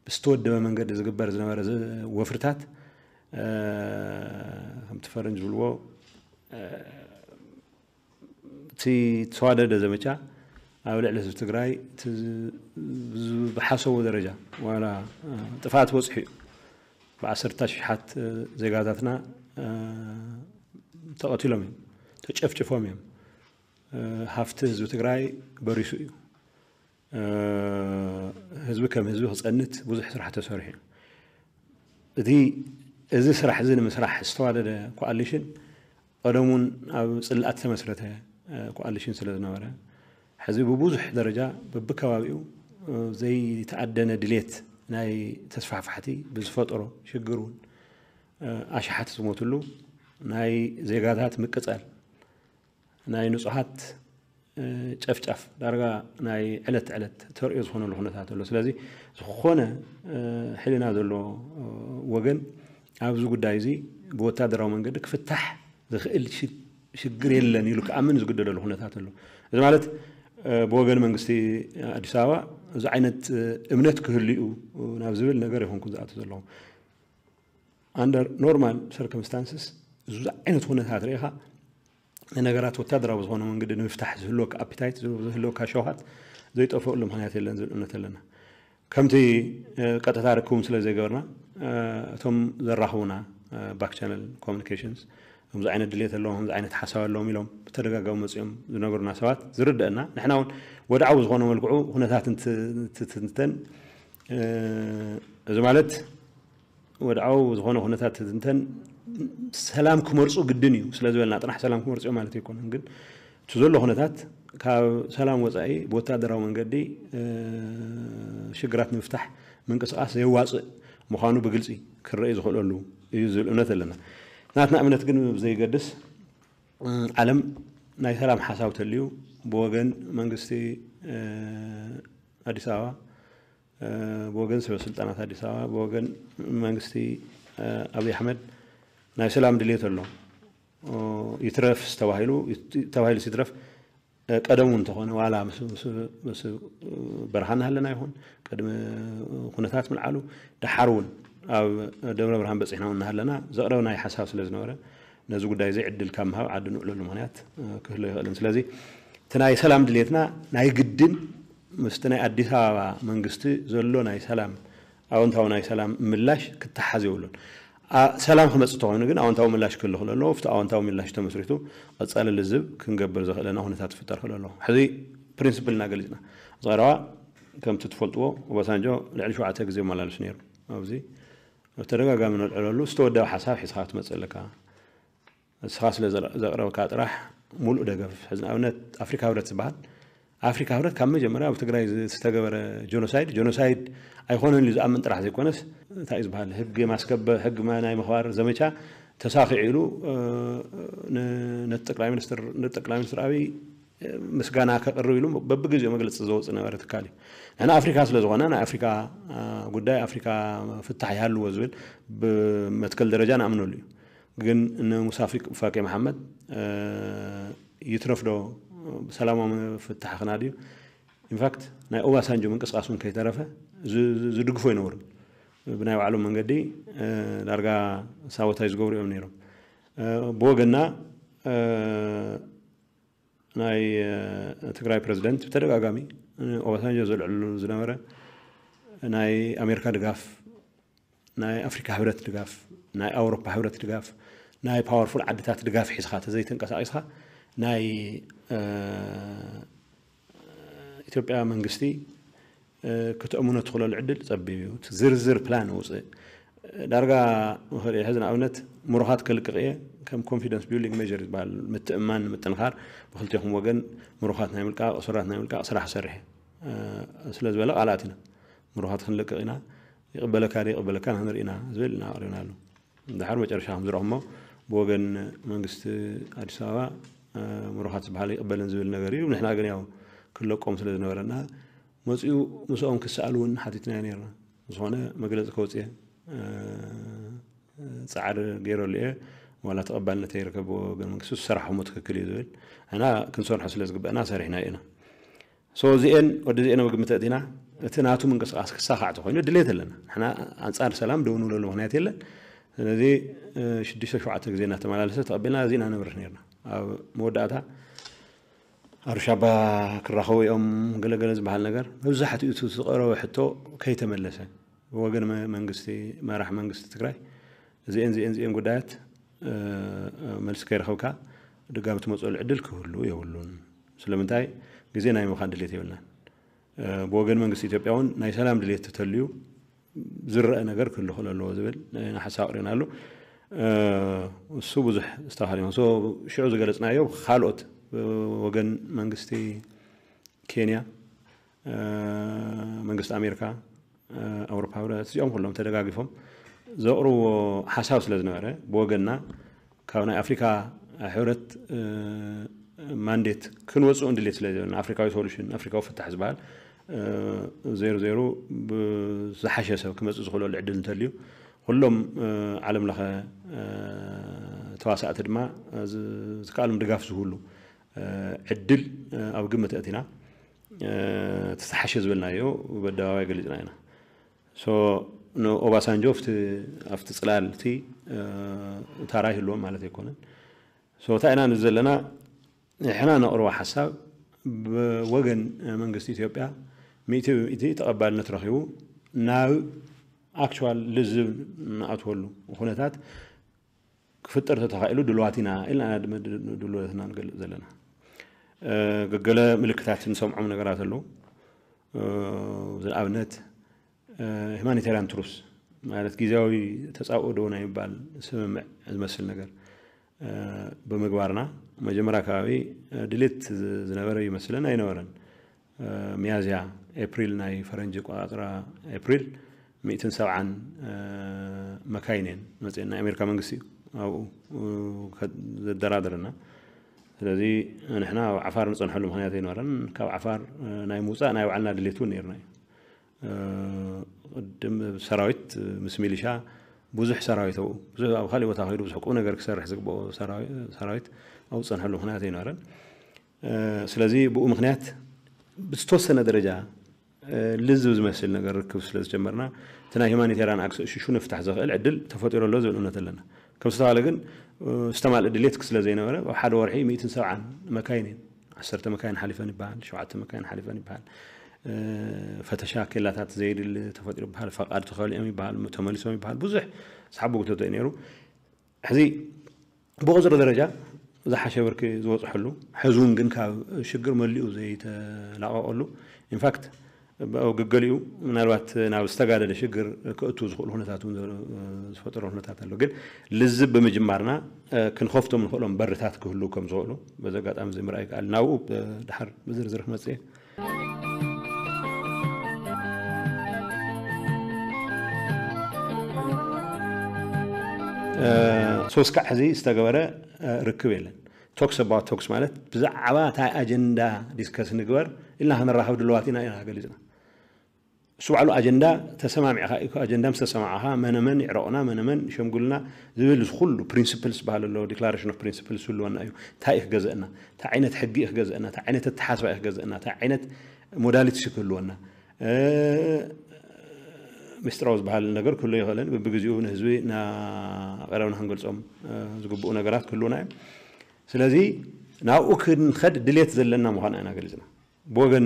ብዝተወደበ መንገዲ ዝግበር ዝነበረ ወፍርታት ከምቲ ፈረንጅ ዝብልዎ እቲ ተዋደደ ዘመቻ ኣብ ልዕሊ ህዝቢ ትግራይ ዝሓሰቡ ደረጃ ዋላ ጥፋት በፅሑ እዩ። ብዓሰርተ ሽሓት ዜጋታትና ተቐቲሎም እዮም፣ ተጨፍጭፎም እዮም። ሃፍቲ ህዝቢ ትግራይ በሪሱ እዩ። ህዝቢ ከም ህዝቢ ክፀንት ብዙሕ ስራሕ ተሰሪሑ እዩ። እቲ እዚ ስራሕ እዚ ንምስራሕ ዝተዋደደ ኮኣሊሽን ቀደሙን ኣብ ፅልኣት ዝተመስረተ ኮኣሊሽን ስለ ዝነበረ ሕዚ ብብዙሕ ደረጃ በብከባቢኡ ዘይተኣደነ ድሌት ናይ ተስፋሕፋሕቲ ብዝፈጠሮ ሽግር እውን ኣሽሓት ዝሞትሉ ናይ ዜጋታት ምቅፃል ናይ ንፁሃት ጨፍጫፍ ዳርጋ ናይ ዕለት ዕለት ተርእዮ ዝኾነሉ ኩነታት ኣሎ። ስለዚ ዝኾነ ሕልና ዘለዎ ወገን ኣብዚ ጉዳይ እዚ ብወታደራዊ መንገዲ ክፍታሕ ዝኽእል ሽግር የለን ኢሉ ክኣምን ዝግደደሉ ኩነታት ኣሎ። እዚ ማለት ብወገን መንግስቲ ኣዲስ ኣበባ እዚ ዓይነት እምነት ክህሉ እዩ ናብ ዝብል ነገር ይኹንኩ ዝኣቱ ዘለኹ። ኣንደር ኖርማል ሰርከምስታንስስ እዚ ዓይነት ኩነታት ርኢኻ ንነገራት ወታደራዊ ዝኾነ መንገዲ ንምፍታሕ ዝህልወካ ኣፒታይት ዝህልወካ ሸውሃት ዘይጠፍእሉ ምክንያት የለን ዝብል እምነት ኣለና። ከምቲ ቀጥታ ርክቡም ስለ ዘይገበርና እቶም ዘራኽቡና ባክ ቻነል ኮሚኒኬሽንስ ከምዚ ዓይነት ድሌት ኣለዎም ከምዚ ዓይነት ሓሳብ ኣለዎም ኢሎም ብተደጋጋሚ መፅኦም ዝነገሩና ሰባት ዝርደአና ንሕና እውን ወድዓዊ ዝኾነ መልክዑ ኩነታት እንትትንተን እዚ ማለት ወድዓዊ ዝኾነ ኩነታት ትንተን ሰላም ክመርፁ ግድን እዩ ስለ ዝበልና ጥራሕ ሰላም ክመርፁ ማለት ኣይኮነን። ግን እቲ ዘሎ ኩነታት ካብ ሰላም ወፃኢ ብወታደራዊ መንገዲ ሽግራት ንምፍታሕ ምንቅስቃስ ዘየዋፅእ ምዃኑ ብግልፂ ክረኢ ዝኽእለሉ እዩ ዝብል እምነት ኣለና። ናትና እምነት ግን ዘይገድስ ዓለም ናይ ሰላም ሓሳብ ተልዩ ብወገን መንግስቲ ኣዲስ ኣበባ ብወገን ሰበ ስልጣናት ኣዲስ ኣበባ ብወገን መንግስቲ ኣብይ ኣሕመድ ናይ ሰላም ድሌት ኣሎ። ይትረፍ ተባሂሉ ተባሂሉ ይትረፍ ቀደሙ እንተኾነ ዋላ ምስ በረኻ እናሃለና ይኹን ቅድሚ ኩነታት ምልዓሉ ደሓር እውን ኣብ ደብረ ብርሃን በፂሕና እውን እናሃለና ዘቕረብናይ ሓሳብ ስለ ዝነበረ ነዚ ጉዳይ እዚ ዕድል ካብ ምሃብ ዓዲ ንውዕለሉ ምክንያት ክህሎ ይኽእልን። ስለዚ እቲ ናይ ሰላም ድሌትና ናይ ግድን ምስቲ ናይ ኣዲስ ኣበባ መንግስቲ ዘሎ ናይ ሰላም ኣወንታዊ ናይ ሰላም ምላሽ ክተሓዝ የብሉን። ሰላም ክመፅእ ተኾይኑ ግን ኣወንታዊ ምላሽ ክህሉ ክእል ኣለዎ። ኣብቲ ኣወንታዊ ምላሽ ተመስሪቱ ቀፃሊ ልዝብ ክንገብር ዘኽእለና ኩነታት ክፍጠር ክእል ኣለዎ። ሕዚ ፕሪንስፕልና ገሊፅና። እዚ ቀረባ ከምቲ ትፈልጥዎ ኦባሳንጆ ልዕሊ ሸውዓተ ግዜ መላልሱ ነይሩ። ኣብዚ ብተደጋጋሚ ነልዕለሉ ዝተወደበ ሓሳብ ሒዝካ ክትመፅእ ኣለካ። ንስኻ ስለ ዘቕረብካ ጥራሕ ሙሉእ ደገፍ ሕዚ ንኣብነት ኣፍሪካ ህብረት ዝበሃል ኣፍሪካ ህብረት ካብ መጀመርያ ኣብ ትግራይ ዝተገበረ ጀኖሳይድ ጀኖሳይድ ኣይኮነን ኢሉ ዝኣምን ጥራሕ ዘይኮነስ እንታይ እዩ ዝበሃል ህግ ማስከበር ህግ ናይ ምኽባር ዘመቻ ተሳኺዑ ኢሉ ነቲ ጠቅላይ ሚኒስትር ነቲ ጠቅላይ ሚኒስትር ኣብይ ምስጋና ከቅርብ ኢሉ በብግዜኡ መግለፂ ዘወፅእ ነበረ ትካል እዩ። ንሕና ኣፍሪካ ስለ ዝኾነ ናይ ኣፍሪካ ጉዳይ ኣፍሪካ ፍታሕ ይሃልዎ ዝብል ብመትከል ደረጃ ንኣምነሉ እዩ። ግን ንሙሳ ፋቂ መሓመድ ይትረፍ ዶ ብሰላማዊ ፍታሕ ክናድዩ ኢንፋክት ናይ ኦባሳንጆ ምንቅስቃስ እውን ከይተረፈ ዝድግፎ ይነበሩ ብናይ ባዕሎም መንገዲ ዳርጋ ሳቦታይ ዝገብሩ እዮም ነይሮም። ብወገና ናይ ትግራይ ፕረዚደንት ብተደጋጋሚ ኦባሳንጆ ዘልዕሉ ዝነበረ ናይ ኣሜሪካ ድጋፍ ናይ ኣፍሪካ ህብረት ድጋፍ ናይ ኣውሮፓ ህብረት ድጋፍ ናይ ፓወርፉል ዓድታት ድጋፍ ሒዝካ ተዘይተንቀሳቂስካ ናይ ኢትዮጵያ መንግስቲ ክትእምኖ ትኽእለሉ ዕድል ፀቢብ እዩ። ዝርዝር ፕላን ውፅእ ዳርጋ ምኽሪ ሕዚ ንኣብነት ምሩኻት ክልቅቕ እየ ከም ኮንፊደንስ ቢልዲንግ ሜር ዝበሃል ምትእማን ንምጥንኻር ብክልቴኹም ወገን ምሩኻት ናይ ምልቃቕ እሱራት ናይ ምልቃቕ ስራሕ ሰርሕ ስለ ዝበለ ቃላት ኢና ምሩኻት ክንልቅቕ ኢና ይቕበለካ ዶ ይቕበለካ ንክንርኢ ኢና ዝብል ኢና ኣቕሪብናሉ። ድሓር መጨረሻ ከም ዝረኹሞ ብወገን መንግስቲ ኣዲስ ኣበባ ምሩኻት ዝበሃል ይቕበልን ዝብል ነገር እዩ። ንሕና ግን ያው ክለቆም ስለ ዝነበረና መፅኡ ምስኦም ክሰኣሉ እውን ሓቲትናዮ ነርና። ዝኾነ መግለፂ ከውፅየ ፃዕሪ ገይረሉ እየ ዋላ ተቐባልነት ይርከብ ብወገን መንግስቲ ዝሰራሕኹሞ ትክክል እዩ ዝብል እና ክንሰርሖ ስለ ዝግበአና ሰሪሕና ኢና። ሶ እዚኤን ወዲ እዚኤን ኣብ ግምት ኣእቲና እቲ ናቱ ምንቅስቃስ ክሳኻዕ ተኮይኑ ድሌት ኣለና ንሕና ኣንፃር ሰላም ደው ንብለሉ ምክንያት የለን። ስለዚ ሽዱሽተ ሸውዓተ ግዜ እናተመላለሰ ተቐቢልና እዚ ኢና ነብርህ ነርና። ኣብ መወዳእታ ኣሩሻባ ክራኸቡ እዮም ገለገለ ዝበሃል ነገር መብዛሕትኡ እቲ ዝቐረበ ሕቶ ከይተመለሰ ብወገን መንግስቲ መራሕ መንግስቲ ትግራይ እዚኤን ዚኤን ዚኤን ጉዳያት መልሲ ከይረኸብካ ድጋሚ ትመፅሉ ዕድል ክህሉ የብሉን። ስለምንታይ ግዜ ናይ ምኻን ድሌት የብልናን። ብወገን መንግስቲ ኢትዮጵያ እውን ናይ ሰላም ድሌት ተተልዩ ዝረአ ነገር ክህሉ ክእል ኣለዎ ዝብል ሓሳብ ኣቅሪብና ኣሎ። እሱ ብዙሕ ዝተኻል ሽዑ ዝገለፅናዮ ካልኦት ወገን መንግስቲ ኬንያ መንግስቲ ኣሜሪካ ኣውሮፓ ህብረት እዚኦም ኩሎም ተደጋጊፎም ዘቕርብዎ ሓሳብ ስለ ዝነበረ ብወገንና ካብ ናይ ኣፍሪካ ሕብረት ማንዴት ክንወፅኡ እንድሌት ስለ ዘለና ኣፍሪካዊ ሶሉሽን ኣፍሪካዊ ፍታሕ ዝበሃል ዜሩ ዜሩ ብዝሓሸ ሰብ ክመፅእ ዝኽእለሉ ዕድል እንተልዩ ኩሎም ዓለም ለኸ ተዋሳእቲ ድማ ዝከኣሎም ድጋፍ ዝህሉ ዕድል ኣብ ግምት ኣእቲና ተተሓሸ ዝበልናዮ በደባባይ ገሊፅና ኢና። ንኦባሳንጆ ኣብቲ ፅላል እቲ ታራ ይህልዎም ማለት ኣይኮነን። እንታይ ኢና ንዘለና ንሕና ነቕርቦ ሓሳብ ብወገን መንግስቲ ኢትዮጵያ ሚእቲ ብሚእቲ ተቐባልነት ረኺቡ ናብ ኣክቹዋል ልዝብ ንኣትወሉ ኩነታት ክፍጠር ተተኻኢሉ ድልዋት ኢና ኢልና ድልወትና ንገልፅ ዘለና። ገገለ ምልክታት ንሰምዖም ነገራት ኣለዉ። ንኣብነት ሂማኒታርያን ትሩስ ማለት ግዜያዊ ተፃብኦ ዶ ናይ ምባል ስምምዕ ዝመስል ነገር ብምግባርና መጀመርያ ከባቢ ድሌት ዝነበረ ይመስለን ኣይነበረን። ሚያዝያ ኤፕሪል ናይ ፈረንጂ ቆፃፅራ ኤፕሪል ሚእትን ሰብዓን መካይን እየን መፅአን ናይ ኣሜሪካ መንግስቲ እዩ ኣብኡ ዘደራደረና። ስለዚ ንሕና ኣብ ዓፋር ንፀንሐሉ ምክንያት ኣይነበረን። ካብ ዓፋር ናይ ምውፃእ ናይ ባዕልና ድሌት እውን ነርና እዩ። ቅድም ሰራዊት ምስ ሚሊሻ ብዙሕ ሰራዊት ኣብኡ ብዙሕ ኣብ ካሊእ ቦታ ከይዱ ብዙሕ ቁም ነገር ክሰርሕ ዝግብኦ ሰራዊት ኣብኡ ዝፀንሐሉ ምክንያት ኣይነበረን። ስለዚ ብኡ ምክንያት ብዝተወሰነ ደረጃ ልዝብ ዝመስል ነገር ርክብ ስለ ዝጀመርና እቲ ናይ ሂማኒቴርያን ኣክሰስ ሽሹ ንፍታሕ ዘኽእል ዕድል ተፈጢሩ ኣሎ ዝብል እምነት ኣለና። ከም ዝተባለ ግን ዝተማልእ ድሌት ስለ ዘይነበረ ኣብ ሓደ ወርሒ ሚእትን ሰብዓን መካይን እየን ዓሰርተ መካይን ሓሊፈን ይበሃል ሸውዓተ መካይን ሓሊፈን ይበሃል። ፈተሻ ኬላታት ዘየድሊ ተፈጢሩ ይበሃል፣ ፈቓድ ተኸሊኦም ይበሃል፣ ተመሊሶም ይበሃል፣ ብዙሕ ዝሓቦ ጉተቶ እዩ ነይሩ። ሕዚ ብቁፅሪ ደረጃ ዝሓሸ ብርኪ ዝበፅሐሉ፣ ሕዚ እውን ግን ካብ ሽግር መሊኡ ዘይተላቐቐሉ፣ ኢንፋክት ገገሊኡ ምናልባት ናብ ዝተጋደደ ሽግር ክእቱ ዝኽእሉ ኩነታት እውን ዝፈጠሮ ኩነታት ኣሎ። ግን ልዝብ ብምጅማርና ክንኸፍቶም ንኽእሎም በርታት ክህሉ ከም ዝኽእሉ በዚ ኣጋጣሚ እዚ ምርኣይ ይከኣል። ናብኡ ድሓር ብዝርዝር ክመፅእ እየ። ሶስካዕ ሕዚ ዝተገበረ ርክብ የለን። ቶክስ ኣባውት ቶክስ ማለት ብዛዕባ እንታይ ኣጀንዳ ዲስከስ ንግበር ኢልና ክንራኸብ ድልዋት ኢና ኢና ገሊፅና። እሱ ባዕሉ ኣጀንዳ ተሰማሚዕካ እዩ። ኣጀንዳ ምስ ተሰማዕኻ መነመን ይዕረቑና፣ መነመን ይሸምጉልና ዝብል እዚ ኩሉ ፕሪንስፕልስ ዝበሃል ኣሎ። ዲክላሬሽን ኦፍ ፕሪንስፕልስ ይህልወና እዩ። እንታይ እዩ ክገዘእና? እንታይ ዓይነት ሕጊ እዩ ክገዘእና? እንታይ ዓይነት ኣተሓስባ እዩ ክገዘእና? እንታይ ዓይነት ሞዳሊቲስ እዩ ክህልወና? ምስጢራዊ ዝበሃል ነገር ክህሉ ይኽእልን ብብግዚኡ ንህዝቢ እናቐረብና ክንገልፆም ዝግብኡ ነገራት ክህልውና እዮም። ስለዚ ናብኡ ክንኸድ ድሌት ዘለና ምዃና ኢና ገሊፅና። ብወገን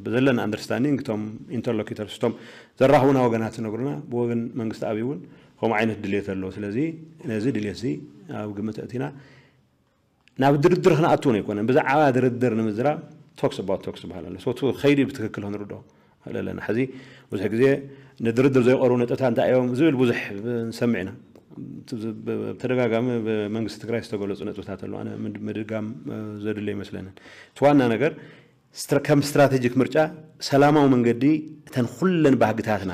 ብዘለና ኣንደርስታንዲንግ እቶም ኢንተርሎኪተርስ እቶም ዘራኽቡና ወገናት ዝነግሩና ብወገን መንግስቲ ኣብይ እውን ከምኡ ዓይነት ድሌት ኣሎ። ስለዚ ነዚ ድሌት እዚ ኣብ ግምት ኣእቲና ናብ ድርድር ክንኣትው ኣይኮነን። ብዛዕባ ድርድር ንምዝራብ ቶክስ ኣባውት ቶክስ ዝበሃል ኣሎ። ሶቱ ከይዲ ብትክክል ክንርድኦ ንኽእል ኣለና። ሕዚ ብዙሕ ግዜ ንድርድር ዘይቀርቡ ነጥብታት እንታይ እዮም ዝብል ብዙሕ ንሰምዕ ኢና። ብተደጋጋሚ ብመንግስቲ ትግራይ ዝተገለፁ ነጥብታት ኣለዉ። ኣነ ምድጋም ዘድሊ ኣይመስለንን። እቲ ዋና ነገር ከም ስትራቴጂክ ምርጫ ሰላማዊ መንገዲ እተን ኩለን ባህግታትና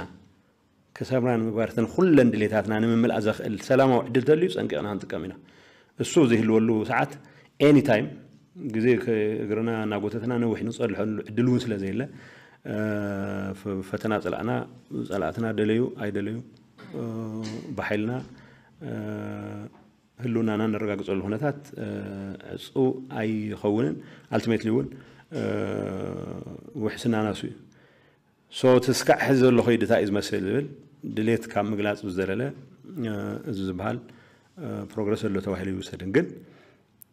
ክሰምራ ንምግባር እተን ኩለን ድሌታትና ንምምላእ ዘኽእል ሰላማዊ ዕድል ተልዩ ፀንቂቕና ክንጥቀም ኢና። እሱ ዝህልወሉ ሰዓት ኤኒ ታይም ግዜ እግርና እናጎተትና ነዊሕ ንፀልሐሉ ዕድል እውን ስለ ዘየለ ፈተና ፀላእና ፀላእትና ደለዩ ኣይደለዩ ብሓይልና ህልውናና ነረጋግፀሉ ኩነታት ዕፁ ኣይኸውንን። ኣልቲሜትሊ እውን ውሕስናና እሱ እዩ። ሶ እቲ ስካዕ ሕዚ ዘሎ ከይዲ እንታይ እዩ ዝመስል ዝብል ድሌት ካብ ምግላፅ ብዝዘለለ እዚ ዝበሃል ፕሮግረስ ኣሎ ተባሂሉ ይውሰድን። ግን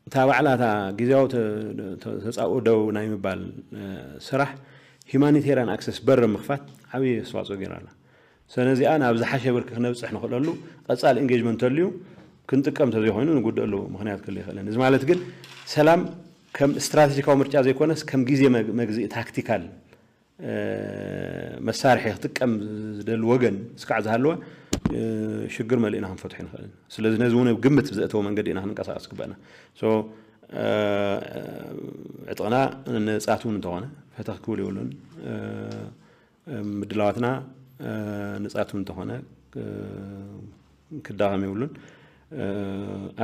እታ ባዕላ እታ ግዜያዊ ተፃኡ ደው ናይ ምባል ስራሕ ሂማኒቴሪያን ኣክሰስ በር ምኽፋት ዓብዪ ኣስተዋፅኦ ገይራ ኣላ። ሰነዚኣ ናብ ዝሓሸ ብርኪ ክነብፅሕ ንኽእለሉ ቀፃሊ ኢንጌጅመንት ተልዩ ክንጥቀም ተዘይኮይኑ ንጉድእ ኣለዎ ምክንያት ክህሉ ይኽእልን። እዚ ማለት ግን ሰላም ከም ስትራቴጂካዊ ምርጫ ዘይኮነስ ከም ግዜ መግዝኢ ታክቲካል መሳርሒ ክጥቀም ዝደሊ ወገን ስካዕ ዝሃለወ ሽግር መሊእና ክንፈትሑ ንኽእል። ስለዚ ነዚ እውን ግምት ብዘእተወ መንገዲ ኢና ክንንቀሳቀስ ግበእና። ዕጥቕና ንፃት እውን እንተኾነ ፈተኽ ክብል የብሉን። ምድላዋትና ንፃት እውን እንተኾነ ክዳኸም የብሉን።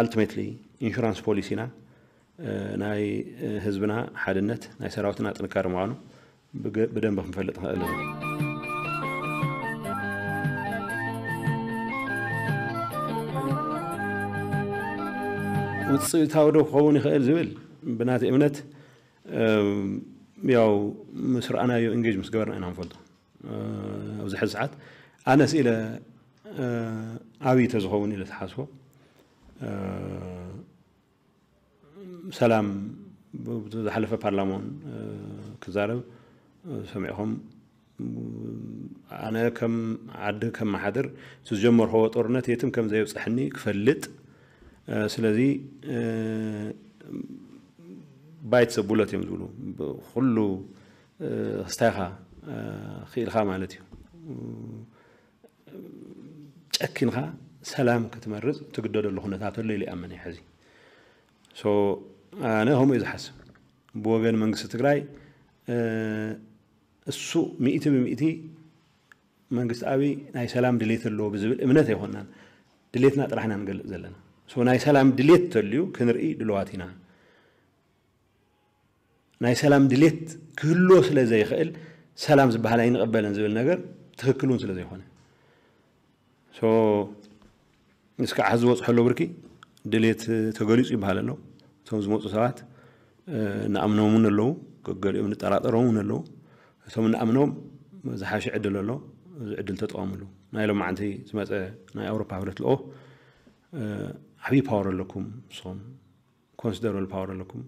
ኣልቲሜትሊ ኢንሹራንስ ፖሊሲና ናይ ህዝብና ሓድነት ናይ ሰራዊትና ጥንካረ ምዃኑ ብደንብ ክንፈልጥ ንኽእል ኢና። ውፅኢታዊ ዶ ክኸውን ይኽእል ዝብል ብናቲ እምነት ያው ምስ ረኣናዮ ኢንጌጅ ምስ ገበርና ኢና ንፈልጦ። ኣብዚ ሕዚ ሰዓት ኣነ ስኢለ ኣብይ ተዝኸውን ኢለ ተሓስቦ ሰላም ዝሓለፈ ፓርላማ እውን ክዛረብ ሰሚዕኹም ኣነ ከም ዓዲ ከም መሓድር ዝጀመርኸዎ ጦርነት የትም ከም ዘየብፅሐኒ ክፈልጥ ስለዚ ባይት ዘቡለት እዮም ዝብሉ ኩሉ ክስታይኻ ክኢልካ ማለት እዩ ጨኪንካ ሰላም ክትመርፅ ትግደደሉ ኩነታት ኣሎ ኢሉ ይኣምን ሕዚ ኣነ ከምኡ እዩ ዝሓስብ ብወገን መንግስቲ ትግራይ እሱ ሚእቲ ብሚእቲ መንግስቲ ኣብይ ናይ ሰላም ድሌት ኣለዎ ብዝብል እምነት ኣይኮናን ድሌትና ጥራሕና ንገልፅ ዘለና ናይ ሰላም ድሌት ተልዩ ክንርኢ ድልዋት ኢና ናይ ሰላም ድሌት ክህልዎ ስለ ዘይኽእል ሰላም ዝበሃል ኣይንቕበልን ዝብል ነገር ትኽክል እውን ስለ ዘይኮነ እስካዕ ሕዚ ዝበፅሐሉ ብርኪ ድሌት ተገሊፁ ይበሃል ኣሎ እቶም ዝመፁ ሰባት ንኣምኖም እውን ኣለዉ ገሊኦም ንጠራጠሮም እውን ኣለዉ እቶም ንኣምኖም ዝሓሸ ዕድል ኣሎ እዚ ዕድል ተጠቐምሉ ናይ ሎማዓንቲ ዝመፀ ናይ ኣውሮፓ ህብረት ልኦ ዓብዪ ፓወር ኣለኩም ንስኹም ኮንሲደረብል ፓወር ኣለኩም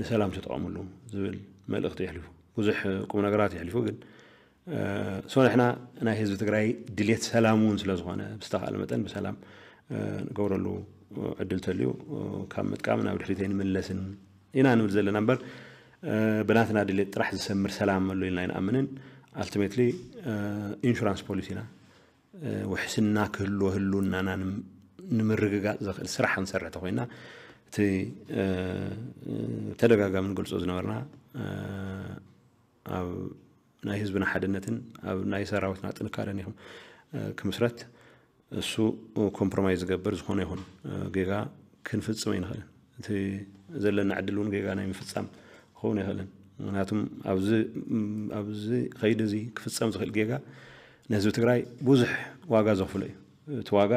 ንሰላም ተጠቐምሉ ዝብል መልእኽቲ የሕልፉ ብዙሕ ቁም ነገራት የሕሊፉ። ግን ሶ ንሕና ናይ ህዝቢ ትግራይ ድሌት ሰላም እውን ስለዝኾነ ብዝተኻለ መጠን ብሰላም ንገብረሉ ዕድል ተልዩ ካብ ምጥቃም ናብ ድሕሪት ኣይንምለስን ኢና ንብል ዘለና እምበር ብናትና ድሌት ጥራሕ ዝሰምር ሰላም ኣሎ ኢልና ኣይንኣምንን። ኣልቲሜትሊ ኢንሹራንስ ፖሊሲና ውሕስና ክህልዎ ህልውናና ንምርግጋፅ ዘኽእል ስራሕ ክንሰርሕ ተኮይና እቲ ተደጋጋሚ ንገልፆ ዝነበርና ኣብ ናይ ህዝብና ሓድነትን ኣብ ናይ ሰራዊትና ጥንካረን ይኹን ክምስረት እሱ ኮምፕሮማይዝ ዝገብር ዝኾነ ይኹን ጌጋ ክንፍፅም ኣይንኽእልን። እቲ ዘለና ዕድል እውን ጌጋ ናይ ምፍፃም ክኸውን ኣይኽእልን። ምክንያቱም ኣብዚ ከይዲ እዚ ክፍፀም ዝኽእል ጌጋ ንህዝቢ ትግራይ ብዙሕ ዋጋ ዘኽፍሎ እዩ። እቲ ዋጋ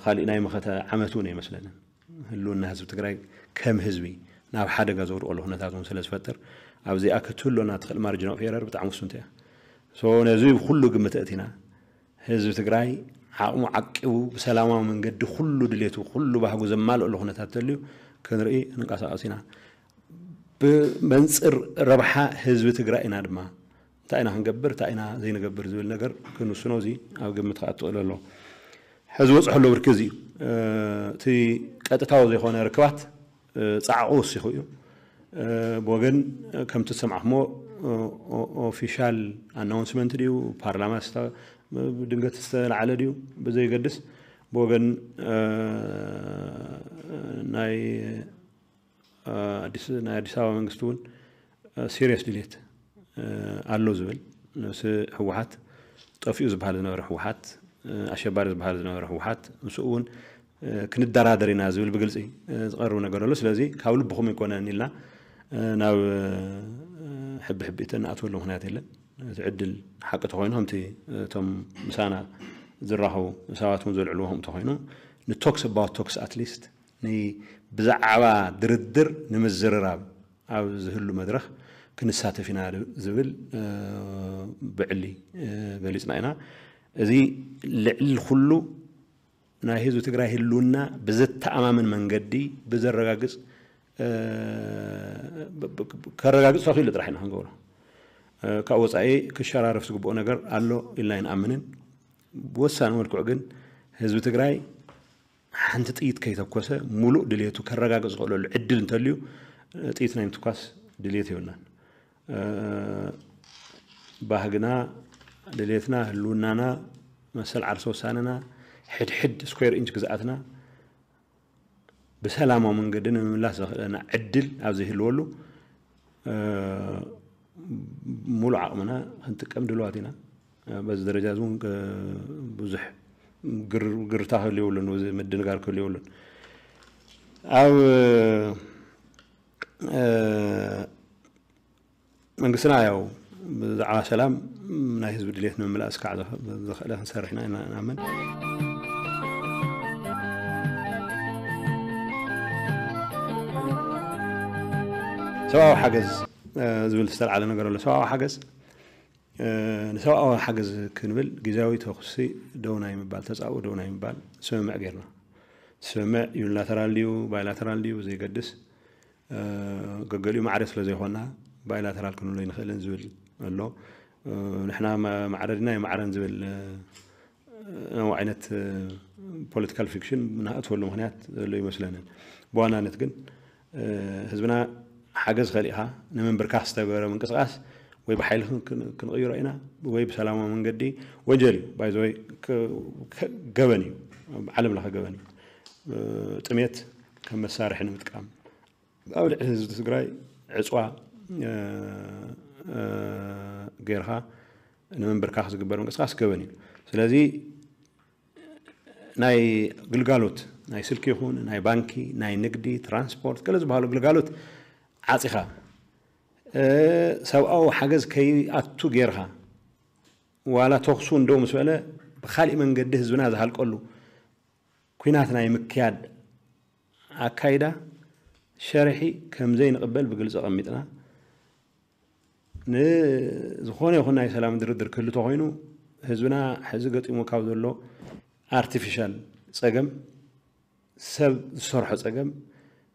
ካሊእ ናይ መኸተ ዓመት እውን ኣይመስለንን። ህልውና ህዝቢ ትግራይ ከም ህዝቢ ናብ ሓደጋ ዘውድቀሉ ኩነታት እውን ስለ ዝፈጥር ኣብዚኣ ክትህሉና ትኽእል ማርጅን ኦፍ ኤረር ብጣዕሚ ውስንቲ እያ። ነዚ ኩሉ ግምት ኣእቲና ህዝቢ ትግራይ ዓቕሙ ዓቂቡ ብሰላማዊ መንገዲ ኩሉ ድሌቱ ኩሉ ባህጉ ዘማልእሉ ኩነታት ተልዩ ክንርኢ ክንንቀሳቐስ ኢና። ብመንፅር ረብሓ ህዝቢ ትግራይ ኢና ድማ እንታይ ኢና ክንገብር እንታይ ኢና ዘይንገብር ዝብል ነገር ክንውስኖ እዚ ኣብ ግምት ክኣቱ ክእል ኣሎ። ሕዚ ወፅሑ ኣሎ ብርኪ እዚ እዩ። እቲ ቀጥታዊ ዘይኮነ ርክባት ፃዕቑ ወሲኹ እዩ። ብወገን ከምቲ ዝሰማዕኩሞ ኦፊሻል ኣናውንስመንት ድዩ ፓርላማ ድንገት ዝተላዓለ ድዩ ብዘይገድስ ብወገን ናይ ኣዲስ ኣበባ መንግስቲ እውን ሲሪየስ ድሌት ኣሎ ዝብል ምስ ህወሓት ጠፊኡ ዝበሃል ዝነበረ ህወሓት ኣሸባሪ ዝበሃል ዝነበረ ህወሓት ምስኡ እውን ክንደራደር ኢና ዝብል ብግልፂ ዝቐርብ ነገር ኣሎ። ስለዚ ካብ ልብኹም ኣይኮነን ኢልና ናብ ሕቢ ሕቢእተ ንኣትወሉ ምክንያት የለን። እቲ ዕድል ሓቂ ተኮይኑ ከምቲ እቶም ምሳና ዝራኸቡ ሰባት እውን ዘልዕልዎ ከምኡ ተኮይኑ ንቶክስ ኣባውት ቶክስ ኣትሊስት ብዛዕባ ድርድር ንምዝርራብ ኣብ ዝህሉ መድረኽ ክንሳተፍ ኢና ዝብል ብዕሊ ገሊፅና ኢና። እዚ ልዕሊ ኩሉ ናይ ህዝቢ ትግራይ ህልውና ብዘተኣማምን መንገዲ ብዘረጋግፅ ከረጋግፅ ተኽኢሉ ጥራሕ ኢና ክንገብሮ። ካብ ወፃኢ ክሸራረፍ ዝግብኦ ነገር ኣሎ ኢልና ኣይንኣምንን። ብወሳኒ መልክዑ ግን ህዝቢ ትግራይ ሓንቲ ጥይት ከይተኮሰ ሙሉእ ድሌቱ ከረጋግፅ ዝኽእለሉ ዕድል እንተልዩ ጥይት ናይ ምትኳስ ድሌት የብልናን። ባህግና፣ ድሌትና፣ ህልውናና፣ መሰል ዓርሰ ውሳነና፣ ሕድሕድ ስኩዌር ኢንች ግዝኣትና ብሰላማዊ መንገዲ ንምምላስ ዘኽእለና ዕድል ኣብ ዘይህልወሉ ሙሉእ ዓቕምና ክንጥቀም ድልዋት ኢና። በዚ ደረጃ እዚ እውን ብዙሕ ግርታ ክህሉ የብሉን፣ ምድንጋር ክህሉ የብሉን። ኣብ መንግስትና ያው ብዛዕባ ሰላም ናይ ህዝቢ ድሌት ንምምላእ ስካዕ ዘኽእለ ክንሰርሕ ኢና ኢና ንኣምን። ሰብኣዊ ሓገዝ ዝብል ዝተልዓለ ነገር ኣሎ። ሰብኣዊ ሓገዝ ንሰብኣዊ ሓገዝ ክንብል ግዜያዊ ተኩሲ ደው ናይ ምባል ተፃኡ ደው ናይ ምባል ስምምዕ ጌርና። ስምምዕ ዩኒላተራል ድዩ ባይላተራል ድዩ ዘይገድስ ገገሊኡ ማዕረ ስለ ዘይኮና ባይላተራል ክንብሎ ይንኽእልን ዝብል ኣሎ። ንሕና ማዕረ ድና የማዕረን ዝብል ነው ዓይነት ፖለቲካል ፊክሽን ንኣትወሉ ምክንያት ዘሎ ይመስለንን። ብዋናነት ግን ህዝብና ሓገዝ ከሊእኻ ንምንብርካኽ ዝተገበረ ምንቅስቃስ ወይ ብሓይሊ ክንቅይሮ ኢና ወይ ብሰላማዊ መንገዲ ወንጀል እዩ። ባይዘወይ ገበን እዩ፣ ዓለም ለኸ ገበን እዩ። ጥሜት ከም መሳርሒ ንምጥቃም ኣብ ልዕሊ ህዝቢ ትግራይ ዕፅዋ ጌርካ ንምንብርካኽ ዝግበር ምንቅስቃስ ገበን እዩ። ስለዚ ናይ ግልጋሎት ናይ ስልኪ ይኹን ናይ ባንኪ ናይ ንግዲ ትራንስፖርት ገለ ዝበሃሉ ግልጋሎት ዓፂኻ ሰብኣዊ ሓገዝ ከይኣቱ ጌርካ ዋላ ተኽሱ እንደው ምስ በለ ብካሊእ መንገዲ ህዝብና ዝሃልቀሉ ኲናት ናይ ምክያድ ኣካይዳ ሸርሒ ከም ዘይንቕበል ብግልፂ ኣቐሚጥና ንዝኾነ ይኹን ናይ ሰላም ድርድር ክህሉ ተኮይኑ ህዝብና ሕዚ ገጢሙ ካብ ዘሎ ኣርቲፊሻል ፀገም ሰብ ዝሰርሖ ፀገም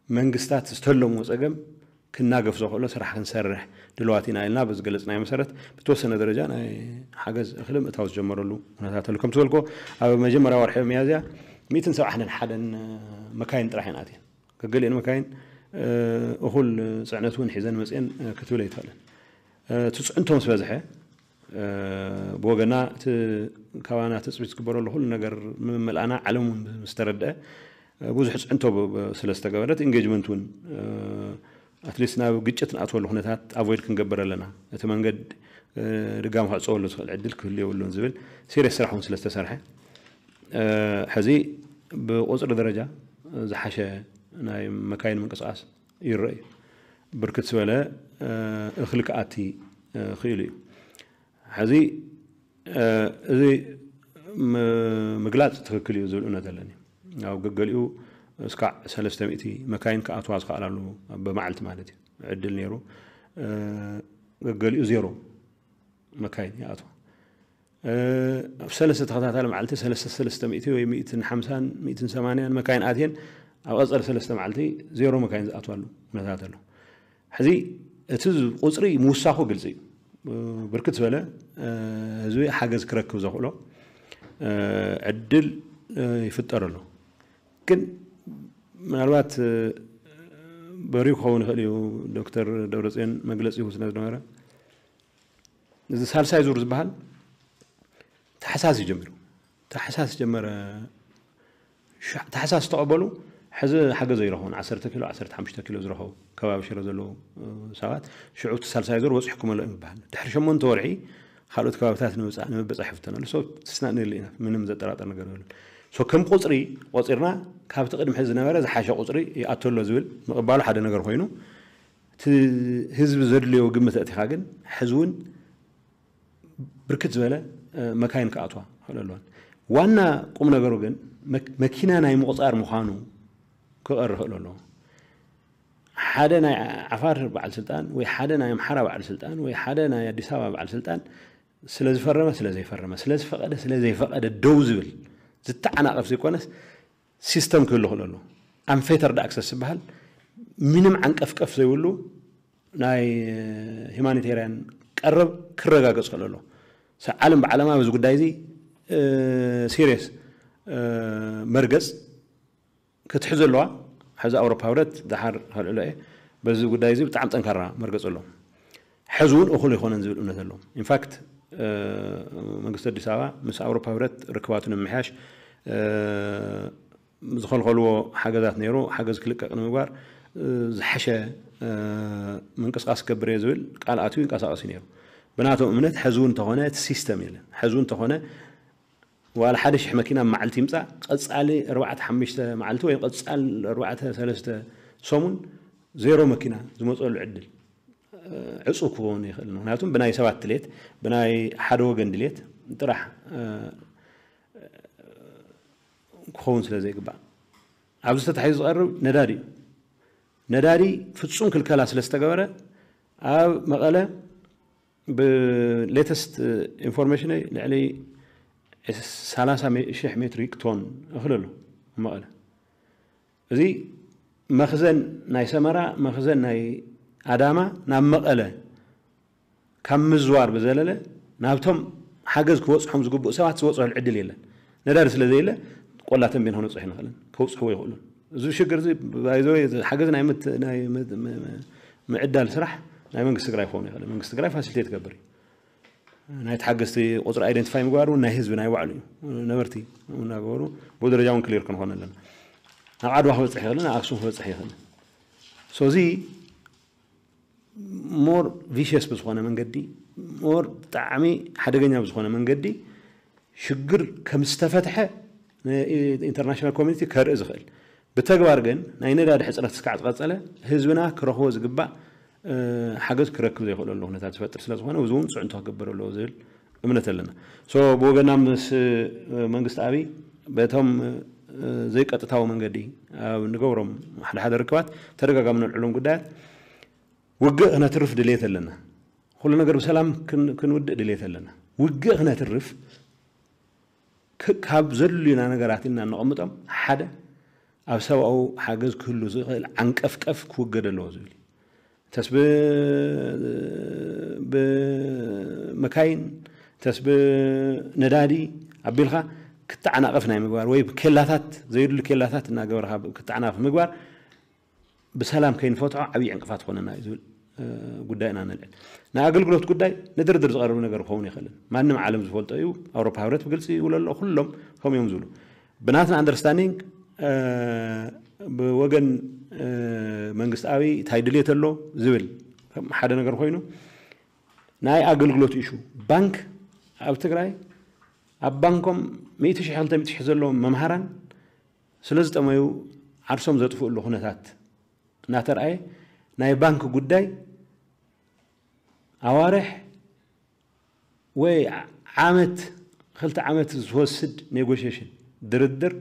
መንግስታት ዝተለምዎ ፀገም ክናገፍ ዘኽእሎ ስራሕ ክንሰርሕ ድልዋት ኢና ኢልና በዝገለፅናዮ መሰረት ብተወሰነ ደረጃ ናይ ሓገዝ እኽሊ ምእታው ዝጀመረሉ ኩነታት ኣሎ። ከም ዝበልኮ ኣብ መጀመርያ ወርሒ ሚያዝያ ሚእትን ሰብዓን ሓደን መካይን ጥራሕ እየን ኣትየን። ገገሊአን መካይን እኹል ፅዕነት እውን ሒዘን መፅአን ክትብል ኣይትኽእልን። እቲ ፅዕንቶ ምስ በዝሐ ብወገና እቲ ካባና ትፅቢት ዝግበረሉ ኩሉ ነገር ምምልኣና ዓለም እውን ምስ ተረድአ ብዙሕ ፅዕንቶ ስለዝተገበረት ኢንጌጅመንት እውን ኣትሊስት ናብ ግጭት ንኣትወሉ ኩነታት ኣቮይድ ክንገብር ኣለና። እቲ መንገድ ድጋሚ ክዕፀወሉ ዝኽእል ዕድል ክህሉ የብሉን ዝብል ሲሪየስ ስራሕ እውን ስለዝተሰርሐ ሕዚ ብቁፅሪ ደረጃ ዝሓሸ ናይ መካይን ምንቅስቃስ ይረአ እዩ። ብርክት ዝበለ እኽሊ ክኣቲ ክኢሉ እዩ። ሕዚ እዚ ምግላፅ ትኽክል እዩ ዝብል እምነት ኣለኒ። ኣብ ገገሊኡ እስካዕ ሰለስተ ሚእቲ መካይን ክኣትዋ ዝኽኣላሉ ብመዓልቲ ማለት እዩ ዕድል ነይሩ። ገገሊኡ ዜሮ መካይን ይኣትዋ። ኣብ ሰለስተ ተኸታታሊ መዓልቲ ሰለስተ ሰለስተ ሚእቲ ወይ ሚእትን ሓምሳን ሚእትን ሰማንያን መካይን ኣትየን ኣብ ቀፀሊ ሰለስተ መዓልቲ ዜሮ መካይን ዝኣትዋሉ ኩነታት ኣሎ። ሕዚ እቲ ቁፅሪ ምውሳኹ ግልፂ እዩ። ብርክት ዝበለ ህዝቢ ሓገዝ ክረክብ ዘኽእሎ ዕድል ይፍጠር ኣሎ። ግን ምናልባት በሪው ክኸውን ይኽእል እዩ። ዶክተር ደብረፅዮን መግለፂ ይህቡ ስለዝነበረ እዚ ሳልሳይ ዙር ዝበሃል ታሕሳስ እዩ ጀሚሩ። ታሕሳስ ጀመረ። ታሕሳስ ዝተቐበሉ ሕዚ ሓገዝ ኣይረኸቡን። ዓሰርተ ኪሎ ዓሰርተ ሓሙሽተ ኪሎ ዝረኸቡ ከባቢ ሽረ ዘለዉ ሰባት ሽዑ እቲ ሳልሳይ ዙር በፂሕኩም ኣሎ ይበሃል። ድሕሪ ሸሞንተ ወርሒ ካልኦት ከባብታት ንምብፃሕ ይፍተነሉ። ሶ ትስናእንሉ ኢና፣ ምንም ዘጠራጠር ነገር የለን። ሶ ከም ቁፅሪ ቆፂርና ካብቲ ቅድሚ ሕዚ ዝነበረ ዝሓሸ ቁፅሪ ይኣቶ ኣሎ ዝብል ምቕባሉ ሓደ ነገር ኮይኑ እቲ ህዝቢ ዘድልዮ ግምት ኣእቲኻ ግን ሕዚ እውን ብርክት ዝበለ መካይን ክኣትዋ ክኽእል ኣለዋን። ዋና ቁም ነገሩ ግን መኪና ናይ ምቑፃር ምዃኑ ክቐር ክኽእል ኣለዎ። ሓደ ናይ ዓፋር በዓል ስልጣን ወይ ሓደ ናይ ኣምሓራ በዓል ስልጣን ወይ ሓደ ናይ ኣዲስ ኣበባ በዓል ስልጣን ስለዝፈረመ ስለዘይፈረመ ስለዝፈቐደ ስለዘይፈቐደ ደው ዝብል ዝተዓናቐፍ ዘይኮነስ ሲስተም ክህሉ ክእል ኣሎ። ኣንፌተርድ ኣክሰስ ዝበሃል ምንም ዓንቀፍቀፍ ዘይብሉ ናይ ሂማኒቴርያን ቀረብ ክረጋገፅ ክእል ኣሎ። ዓለም ብዓለማ በዚ ጉዳይ እዚ ሲሪየስ መርገፅ ክትሕዝ ኣለዋ። ሕዚ ኣውሮፓ ህብረት ድሓር ከልዕሎ እየ። በዚ ጉዳይ እዚ ብጣዕሚ ጠንካራ መርገፅ ኣለዎም። ሕዚ እውን እኹል ኣይኮነን ዝብል እምነት ኣለዎም። ኢንፋክት መንግስቲ ኣዲስ ኣበባ ምስ ኣውሮፓ ህብረት ርክባቱ ንምምሕያሽ ዝኸልኸልዎ ሓገዛት ነይሩ። ሓገዝ ክልቀቕ ንምግባር ዝሓሸ ምንቅስቃስ ክገብር እየ ዝብል ቃል ኣትዩ ይንቀሳቐስ እዩ ነይሩ። ብናቶም እምነት ሕዚ እውን እንተኾነ እቲ ሲስተም የለን። ሕዚ እውን እንተኾነ ዋላ ሓደ ሽሕ መኪና መዓልቲ ይምፃእ ቀፃሊ ኣርባዕተ ሓሙሽተ መዓልቲ ወይ ቀፃል ኣርባዕተ ሰለስተ ሰሙን ዜሮ መኪና ዝመፀሉ ዕድል ዕፁብ ክኸውን ይኽእል። ምክንያቱም ብናይ ሰባት ድሌት ብናይ ሓደ ወገን ድሌት ጥራሕ ክኸውን ስለ ዘይግባእ ኣብዚ ተታሒዙ ዝቐርብ ነዳዲ እዩ። ነዳዲ ፍፁም ክልከላ ስለ ዝተገበረ ኣብ መቐለ ብሌተስት ኢንፎርሜሽነይ ልዕሊ ሰላሳ ሽሕ ሜትሪክ ቶን እኽሊ ኣሎ ኣብ መቐለ። እዚ መኽዘን ናይ ሰመራ መኽዘን ናይ ኣዳማ ናብ መቐለ ካብ ምዝዋር ብዘለለ ናብቶም ሓገዝ ክበፅሖም ዝግብኡ ሰባት ዝበፅሑሉ ዕድል የለን። ነዳዲ ስለ ዘየለ ቆላ ተንቤን ክነብፅሕ ይንኽእልን ከብፅሕዎ ይኽእሉን። እዚ ሽግር እዚ ባይዘወይ ሓገዝ ናይ ምዕዳል ስራሕ ናይ መንግስቲ ትግራይ ክኸውን ይኽእል። መንግስቲ ትግራይ ፋሲሊቴት ይገብር እዩ። ናይ ተሓገዝቲ ቁፅሪ ኣይደንቲፋይ ምግባር እውን ናይ ህዝቢ ናይ ባዕሉ እዩ። ነበርቲ እናገበሩ ብኡ ደረጃ እውን ክሊር ክንኾን ኣለና። ናብ ዓድዋ ክበፅሕ ይኽእል፣ ናብ ኣክሱም ክበፅሕ ይኽእል። ሶ እዚ ሞር ቪሽየስ ብዝኾነ መንገዲ ሞር ብጣዕሚ ሓደገኛ ብዝኾነ መንገዲ ሽግር ከም ዝተፈትሐ ኢንተርናሽናል ኮሚኒቲ ከርኢ ዝኽእል ብተግባር ግን ናይ ነዳዲ ሕፅረት እስካዕ ዝቐፀለ ህዝብና ክረኽቦ ዝግባእ ሓገዝ ክረክብ ዘይኽእለሉ ኩነታት ዝፈጥር ስለ ዝኾነ እዚ እውን ፅዕንቶ ክገብር ኣለዎ ዝብል እምነት ኣለና። ሶ ብወገና ምስ መንግስቲ ኣብይ በቶም ዘይቀጥታዊ መንገዲ ኣብ ንገብሮም ሓደ ሓደ ርክባት ተደጋጋሚ ነልዕሎም ጉዳያት ውግእ ክነትርፍ ድልየት ኣለና። ኩሉ ነገር ብሰላም ክንውድእ ድልየት ኣለና። ውግእ ክነትርፍ ካብ ዘድልዩና ነገራት ኢልና ነቐምጦም ሓደ ኣብ ሰብኣዊ ሓገዝ ክህሉ ዝኽእል ዓንቀፍቀፍ ክውገድ ኣለዎ ዝብል እዩ። ተስ ብመካይን፣ ተስ ብነዳዲ ኣቢልካ ክትዓናቐፍ ናይ ምግባር ወይ ኬላታት፣ ዘይድሉ ኬላታት እናገበርካ ክትዓናቐፍ ምግባር ብሰላም ከይንፈትሖ ዓብዪ ዕንቅፋት ኮነና እዩ ዝብል ጉዳይ ኢና ነልዕል። ናይ ኣገልግሎት ጉዳይ ንድርድር ዝቐርብ ነገር ክኸውን ይኽእልን፣ ማንም ዓለም ዝፈልጦ እዩ። ኣውሮፓ ህብረት ብግልፂ ይብሎ ኣሎ፣ ኩሎም ከምኡ እዮም ዝብሉ። ብናትና ኣንደርስታንዲንግ ብወገን መንግስታዊ እንታይ ድልየት ኣሎ ዝብል ሓደ ነገር ኮይኑ፣ ናይ ኣገልግሎት ኢሹ፣ ባንክ ኣብ ትግራይ ኣብ ባንኮም ሚእቲ ሺሕ ክልተ ሚእቲ ሺሕ ዘለዎም መምሃራን ስለ ዝጠመዩ ዓርሶም ዘጥፍእሉ ኩነታት እናተርኣየ፣ ናይ ባንክ ጉዳይ ኣዋርሕ ወይ ዓመት፣ ክልተ ዓመት ዝወስድ ኔጎሽሽን፣ ድርድር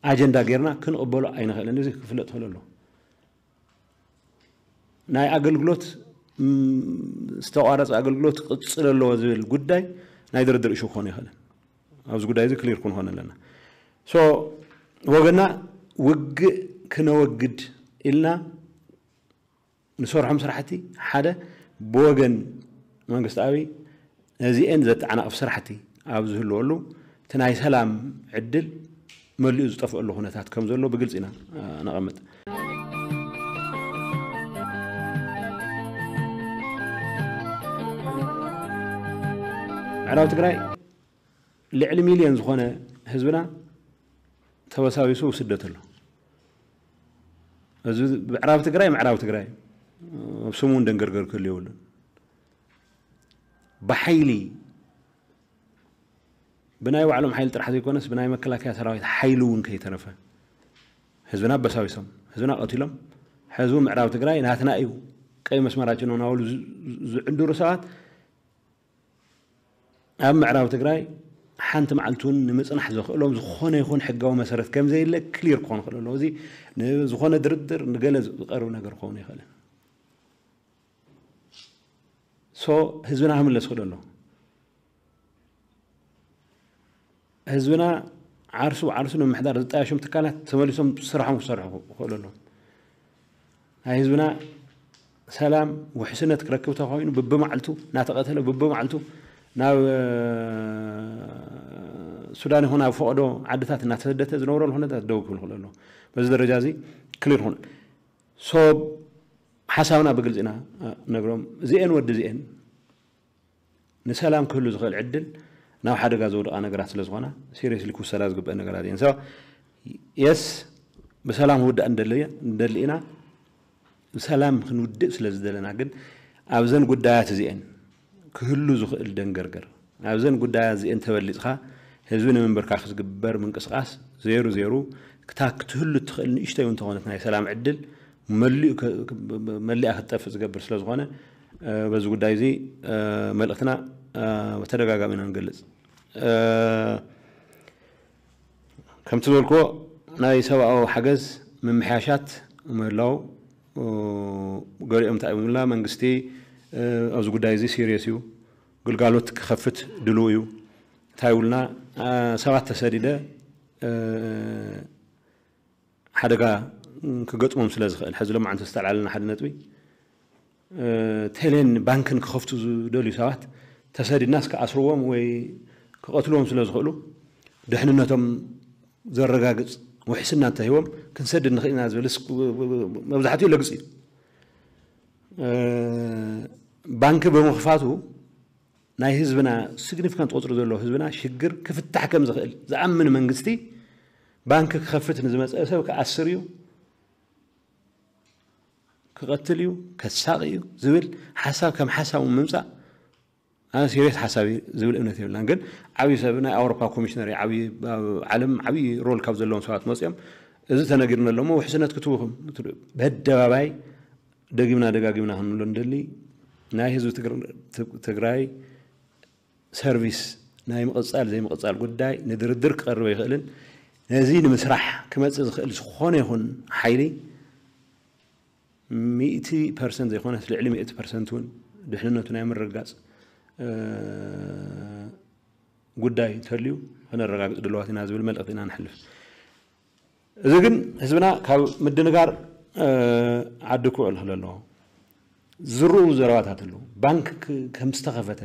ኣጀንዳ ጌርና ክንቕበሎ ኣይንኽእልን። እዚ ክፍለጥ ክእል ኣሎ። ናይ ኣገልግሎት ዝተቋረፀ ኣገልግሎት ክቕፅል ኣለዎ ዝብል ጉዳይ ናይ ድርድር እሹ ክኾን ይኽእልን። ኣብዚ ጉዳይ እዚ ክሊር ክንኾን ኣለና። ሶ ወገና ውግእ ክነወግድ ኢልና ንሰርሖም ስራሕቲ ሓደ ብወገን መንግስታዊ ነዚኤን ዘተዓናቕፍ ስራሕቲ ኣብ ዝህልወሉ እቲ ናይ ሰላም ዕድል መሊኡ ዝጠፍአሉ ኩነታት ከም ዘሎ ብግልፂ ኢና ነቐምጥ። ምዕራብ ትግራይ ልዕሊ ሚልዮን ዝኾነ ህዝብና ተበሳቢሱ ስደት ኣሎ። እዚ ምዕራብ ትግራይ ምዕራብ ትግራይ ኣብ ስሙ እውን ደንገርገር ክህሉ የብሉን። ብሓይሊ ብናይ ባዕሎም ሓይሊ ጥራሕ ዘይኮነስ ብናይ መከላከያ ሰራዊት ሓይሊ እውን ከይተረፈ ህዝብና ኣበሳቢሶም፣ ህዝብና ቀቲሎም፣ ሕዚ ምዕራብ ትግራይ ናትና እዩ፣ ቀይ መስመራችን ነው እናበሉ ዝዕንድሩ ሰባት ኣብ ምዕራብ ትግራይ ሓንቲ መዓልቲ እውን ንምፅናሕ ዘኽእሎም ዝኾነ ይኹን ሕጋዊ መሰረት ከም ዘየለ ክሊር ክኾን ይኽእል ኣለዎ። እዚ ንዝኾነ ድርድር ንገለ ዝቐርብ ነገር ክኸውን ይኽእልን። ሶ ህዝብና ክምለስ ይኽእል ኣሎ። ህዝብና ዓርሱ ዓርሱ ንምምሕዳር ዝጣየሾም ትካላት ተመሊሶም ስራሖም ክሰርሑ ይኽእሉ ኣለዉ። ናይ ህዝብና ሰላም ውሕስነት ክረክብ ተኾይኑ ብብመዓልቱ እናተቐተለ ብብመዓልቱ ናብ ሱዳን ይኹን ኣብ ፈቐዶ ዓድታት እናተሰደተ ዝነብረሉ ኩነታት ደው ክብል ይኽእል ኣሎ። በዚ ደረጃ እዚ ክሊር ይኹን። ሶ ሓሳብና ብግልፂ ኢና ነግሮም። እዚኤን ወዲ እዚኤን ንሰላም ክህሉ ዝኽእል ዕድል ናብ ሓደጋ ዘውድቓ ነገራት ስለ ዝኾና ሲሪየስሊ ክውሰዳ ዝግበእ ነገራት እየን። ሶ የስ ብሰላም ክውዳእ እንደሊ ኢና፣ ብሰላም ክንውድእ ስለ ዝደለና ግን ኣብዘን ጉዳያት እዚኤን ክህሉ ዝኽእል ደንገርገር ኣብዘን ጉዳያት እዚኤን ተበሊፅኻ ህዝቢ ንምንበርካኽ ዝግበር ምንቅስቃስ ዜሩ ዜሩ ክታ ክትህሉ እትኽእል ንእሽተይ እውን እንተኾነት ናይ ሰላም ዕድል መሊኡ መሊኣ ክትጠፍእ ዝገብር ስለ ዝኾነ በዚ ጉዳይ እዚ መልእኽትና ብተደጋጋሚ ኢና ንገልፅ። ከምቲ ዝበልክዎ ናይ ሰብኣዊ ሓገዝ ምምሕያሻት ምህላው ገሊኦም እንታይ ይብሉና መንግስቲ ኣብዚ ጉዳይ እዚ ሲሪየስ እዩ፣ ግልጋሎት ክኸፍት ድልው እዩ። እንታይ ይብሉና ሰባት ተሰዲደ ሓደጋ ክገጥሞም ስለ ዝኽእል ሕዚ ሎማዓንቲ ዝተልዓለና ሓደ ነጥቢ ቴሌን ባንክን ክኸፍቱ ዝደልዩ ሰባት ተሰዲድናስ ክኣስርዎም ወይ ክቐትልዎም ስለ ዝኽእሉ ድሕንነቶም ዘረጋግፅ ውሕስና እንተሂቦም ክንሰድድ ንኽእል ኢና ዝብል መብዛሕትኡ ለግፅ እዩ። ባንኪ ብምኽፋቱ ናይ ህዝብና ሲግኒፊካንት ቁፅሪ ዘለዎ ህዝብና ሽግር ክፍታሕ ከም ዝኽእል ዝኣምን መንግስቲ ባንኪ ክኸፍት ንዝመፀ ሰብ ክኣስር እዩ፣ ክቐትል እዩ፣ ከሳቕ እዩ ዝብል ሓሳብ ከም ሓሳብ ምምፃእ ኣነ ሲሪየስ ሓሳብ እዩ ዝብል እምነት የብልናን። ግን ዓብዪ ሰብ ናይ ኣውሮፓ ኮሚሽነር ዓብዪ ዓለም ዓብዪ ሮል ካብ ዘለዎም ሰባት መፅኦም እዚ ተነጊርና ኣለሞ ውሕስነት ክትውኽም በደባባይ ደጊምና ደጋጊምና ክንብሎ ንደሊ ናይ ህዝቢ ትግራይ ሰርቪስ ናይ ምቕፃል ዘይምቕፃል ጉዳይ ንድርድር ክቐርብ ኣይኽእልን። ነዚ ንምስራሕ ክመፅእ ዝኽእል ዝኾነ ይኹን ሓይሊ ሚእቲ ፐርሰንት ዘይኮነስ ልዕሊ ሚእቲ ፐርሰንት እውን ድሕንነቱ ናይ ምርግጋፅ ጉዳይ እንተልዩ ከነረጋግፅ ድለዋት ኢና ዝብል መልእኽቲ ኢና ንሕልፍ። እዚ ግን ህዝብና ካብ ምድንጋር ዓዲ ክውዕል ክእል ኣለዎ። ዝርኡ ዘረባታት ኣለዉ። ባንክ ከም ዝተኸፈተ፣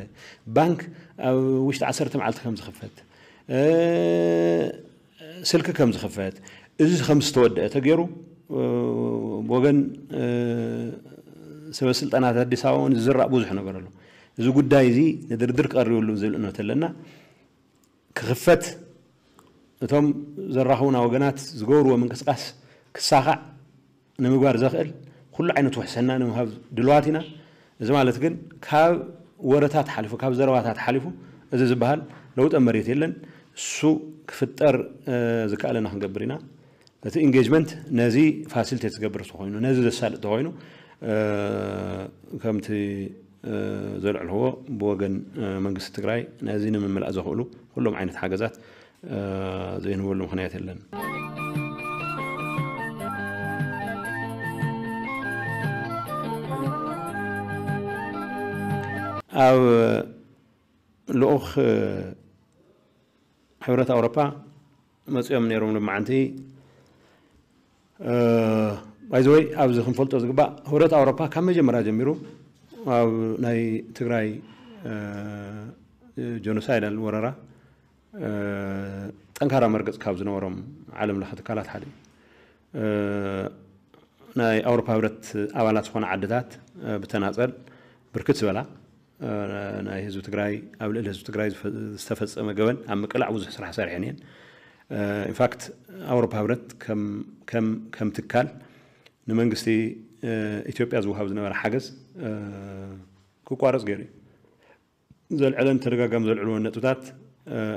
ባንክ ኣብ ውሽጢ ዓሰርተ መዓልቲ ከም ዝኽፈት፣ ስልኪ ከም ዝኽፈት፣ እዚ ከም ዝተወደአ ተገይሩ ብወገን ሰበ ስልጣናት ኣዲስ ኣበባ እውን ዝዝራእ ብዙሕ ነገር ኣሎ። እዚ ጉዳይ እዚ ንድርድር ክቐርብ የብሉን ዝብል እምነት ኣለና። ክኽፈት፣ እቶም ዘራኽቡና ወገናት ዝገብርዎ ምንቅስቃስ ክሳኻዕ ንምግባር ዘኽእል ኩሉ ዓይነት ውሕሰና ንምሃብ ድልዋት ኢና። እዚ ማለት ግን ካብ ወረታት ሓሊፉ፣ ካብ ዘረባታት ሓሊፉ እዚ ዝበሃል ለውጠ መሬት የለን። እሱ ክፍጠር ዝከኣለና ክንገብር ኢና። እቲ ኢንጌጅመንት ነዚ ፋሲሊቴት ዝገብር ተኾይኑ፣ ነዚ ዘሳልጥ ተኾይኑ፣ ከምቲ ዘልዕልዎ ብወገን መንግስቲ ትግራይ ነዚ ንምምላእ ዘኽእሉ ኩሎም ዓይነት ሓገዛት ዘይንህበሉ ምኽንያት የለን። ኣብ ልኡኽ ሕብረት ኣውሮፓ መፂኦም ነይሮም። ልማዓንቲ ባይዘወይ ኣብዚ ክንፈልጦ ዝግባእ፣ ህብረት ኣውሮፓ ካብ መጀመርያ ጀሚሩ ኣብ ናይ ትግራይ ጀኖሳይዳል ወረራ ጠንካራ መርገፅ ካብ ዝነበሮም ዓለም ለኸ ትካላት ሓደ እዩ። ናይ ኣውሮፓ ህብረት ኣባላት ዝኾነ ዓድታት ብተናፀል ብርክት ዝበላ ናይ ህዝቢ ትግራይ፣ ኣብ ልዕሊ ህዝቢ ትግራይ ዝተፈፀመ ገበን ኣብ ምቅላዕ ብዙሕ ስራሕ ሰሪሐን እየን። ኢንፋክት ኣውሮፓ ህብረት ከም ትካል ንመንግስቲ ኢትዮጵያ ዝወሃብ ዝነበረ ሓገዝ ክቋረፅ ገይሩ እዩ። ዘልዕለን ተደጋጋሚ ዘልዕልዎን ነጥብታት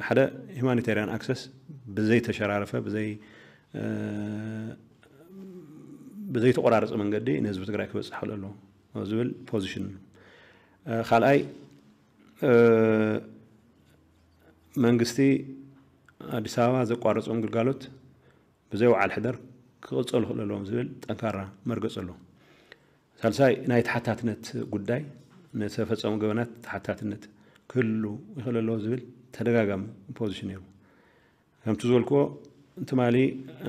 ሓደ ሂማኒታሪያን ኣክሰስ ብዘይተሸራረፈ ብዘይ ብዘይተቆራረፀ መንገዲ ንህዝቢ ትግራይ ክበፅሕ ክእል ኣለዎ ዝብል ፖዚሽን እዩ። ካልኣይ መንግስቲ ኣዲስ ኣበባ ዘቋረፆም ግልጋሎት ብዘይ ወዓል ሕደር ክቕፀሉ ክእል ኣለዎም ዝብል ጠንካራ መርገፂ ኣለዎ። ሳልሳይ ናይ ተሓታትነት ጉዳይ፣ ንተፈፀሙ ገበናት ተሓታትነት ክህሉ ይኽእል ኣለዎ ዝብል ተደጋጋሚ ፖዚሽን ነይሩ። ከምቲ ዝበልክዎ ትማሊ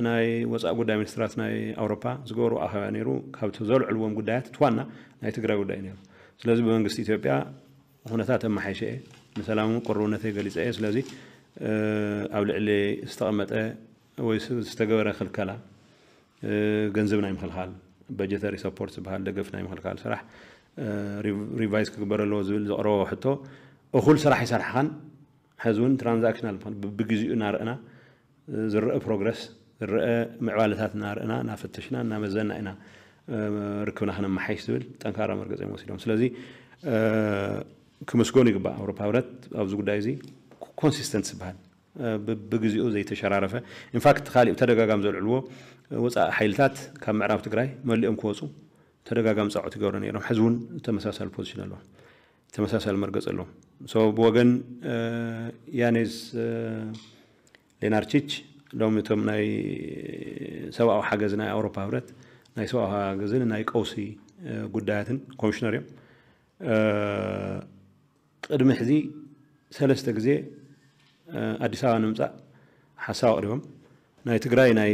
ናይ ወፃኢ ጉዳይ ሚኒስትራት ናይ ኣውሮፓ ዝገበሩ ኣኸባ ነይሩ። ካብቲ ዘልዕልዎም ጉዳያት እቲ ዋና ናይ ትግራይ ጉዳይ ነይሩ። ስለዚ ብመንግስቲ ኢትዮጵያ ኩነታት ኣመሓይሸ እየ፣ ንሰላም ቅርብነተይ ገሊፀ እየ። ስለዚ ኣብ ልዕሊ ዝተቐመጠ ወይ ዝተገበረ ክልከላ ገንዘብ ናይ ምክልካል፣ በጀተሪ ሰፖርት ዝበሃል ደገፍ ናይ ምክልካል ስራሕ ሪቫይዝ ክግበር ኣለዎ ዝብል ዘቕረቦ ሕቶ እኹል ስራሕ ይሰርሓኻን ሕዚ እውን ትራንዛክሽናል ብግዜኡ እናረእና ዝረአ ፕሮግረስ ዝረአ ምዕባለታት እናረእና እናፈተሽና እናመዘና ኢና ርክብና ክነመሓይሽ ዝብል ጠንካራ መርገፂ እዮም ወሲዶም። ስለዚ ክምስገኑ ይግባእ። ኣውሮፓ ህብረት ኣብዚ ጉዳይ እዚ ኮንሲስተንት ዝበሃል ብግዜኡ ዘይተሸራረፈ፣ ኢንፋክት ካሊእ ተደጋጋሚ ዘልዕልዎ ወፃኢ ሓይልታት ካብ ምዕራብ ትግራይ መሊኦም ክወፁ ተደጋጋሚ ፃውዒት ይገብሩ ነይሮም። ሕዚ እውን ተመሳሳሊ ፖዚሽን ኣለዎም፣ ተመሳሳሊ መርገፂ ኣለዎም። ብወገን ያኔዝ ሌናርቺች ሎም እቶም ናይ ሰብኣዊ ሓገዝ ናይ ኣውሮፓ ህብረት ናይ ሰብኣዊ ሓገዝን ናይ ቀውሲ ጉዳያትን ኮሚሽነር እዮም። ቅድሚ ሕዚ ሰለስተ ግዜ ኣዲስ ኣበባ ንምፃእ ሓሳብ ኣቕሪቦም። ናይ ትግራይ ናይ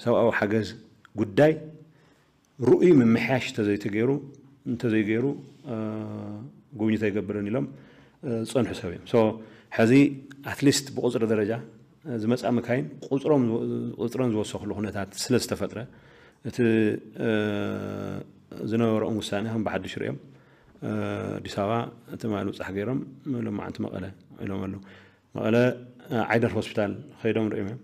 ሰብኣዊ ሓገዝ ጉዳይ ርኡይ ምምሕያሽ እንተዘይተገይሩ እንተዘይገይሩ ጉብኝት ኣይገብርን ኢሎም ዝፀንሑ ሰብ እዮም። ሕዚ ኣትሊስት ብቁፅሪ ደረጃ ዝመፃ መካይን ቁፅሮም ቁፅረን ዝወሰኽሉ ኩነታት ስለ ዝተፈጥረ እቲ ዝነበረኦም ውሳኔ ከም ብሓድሽ ሪኦም ኣዲስ ኣበባ ትማሊ ምብፃሕ ገይሮም ሎማዓንቲ መቐለ ኢሎም ኣለዉ። መቐለ ዓይደር ሆስፒታል ከይዶም ሪኦም እዮም።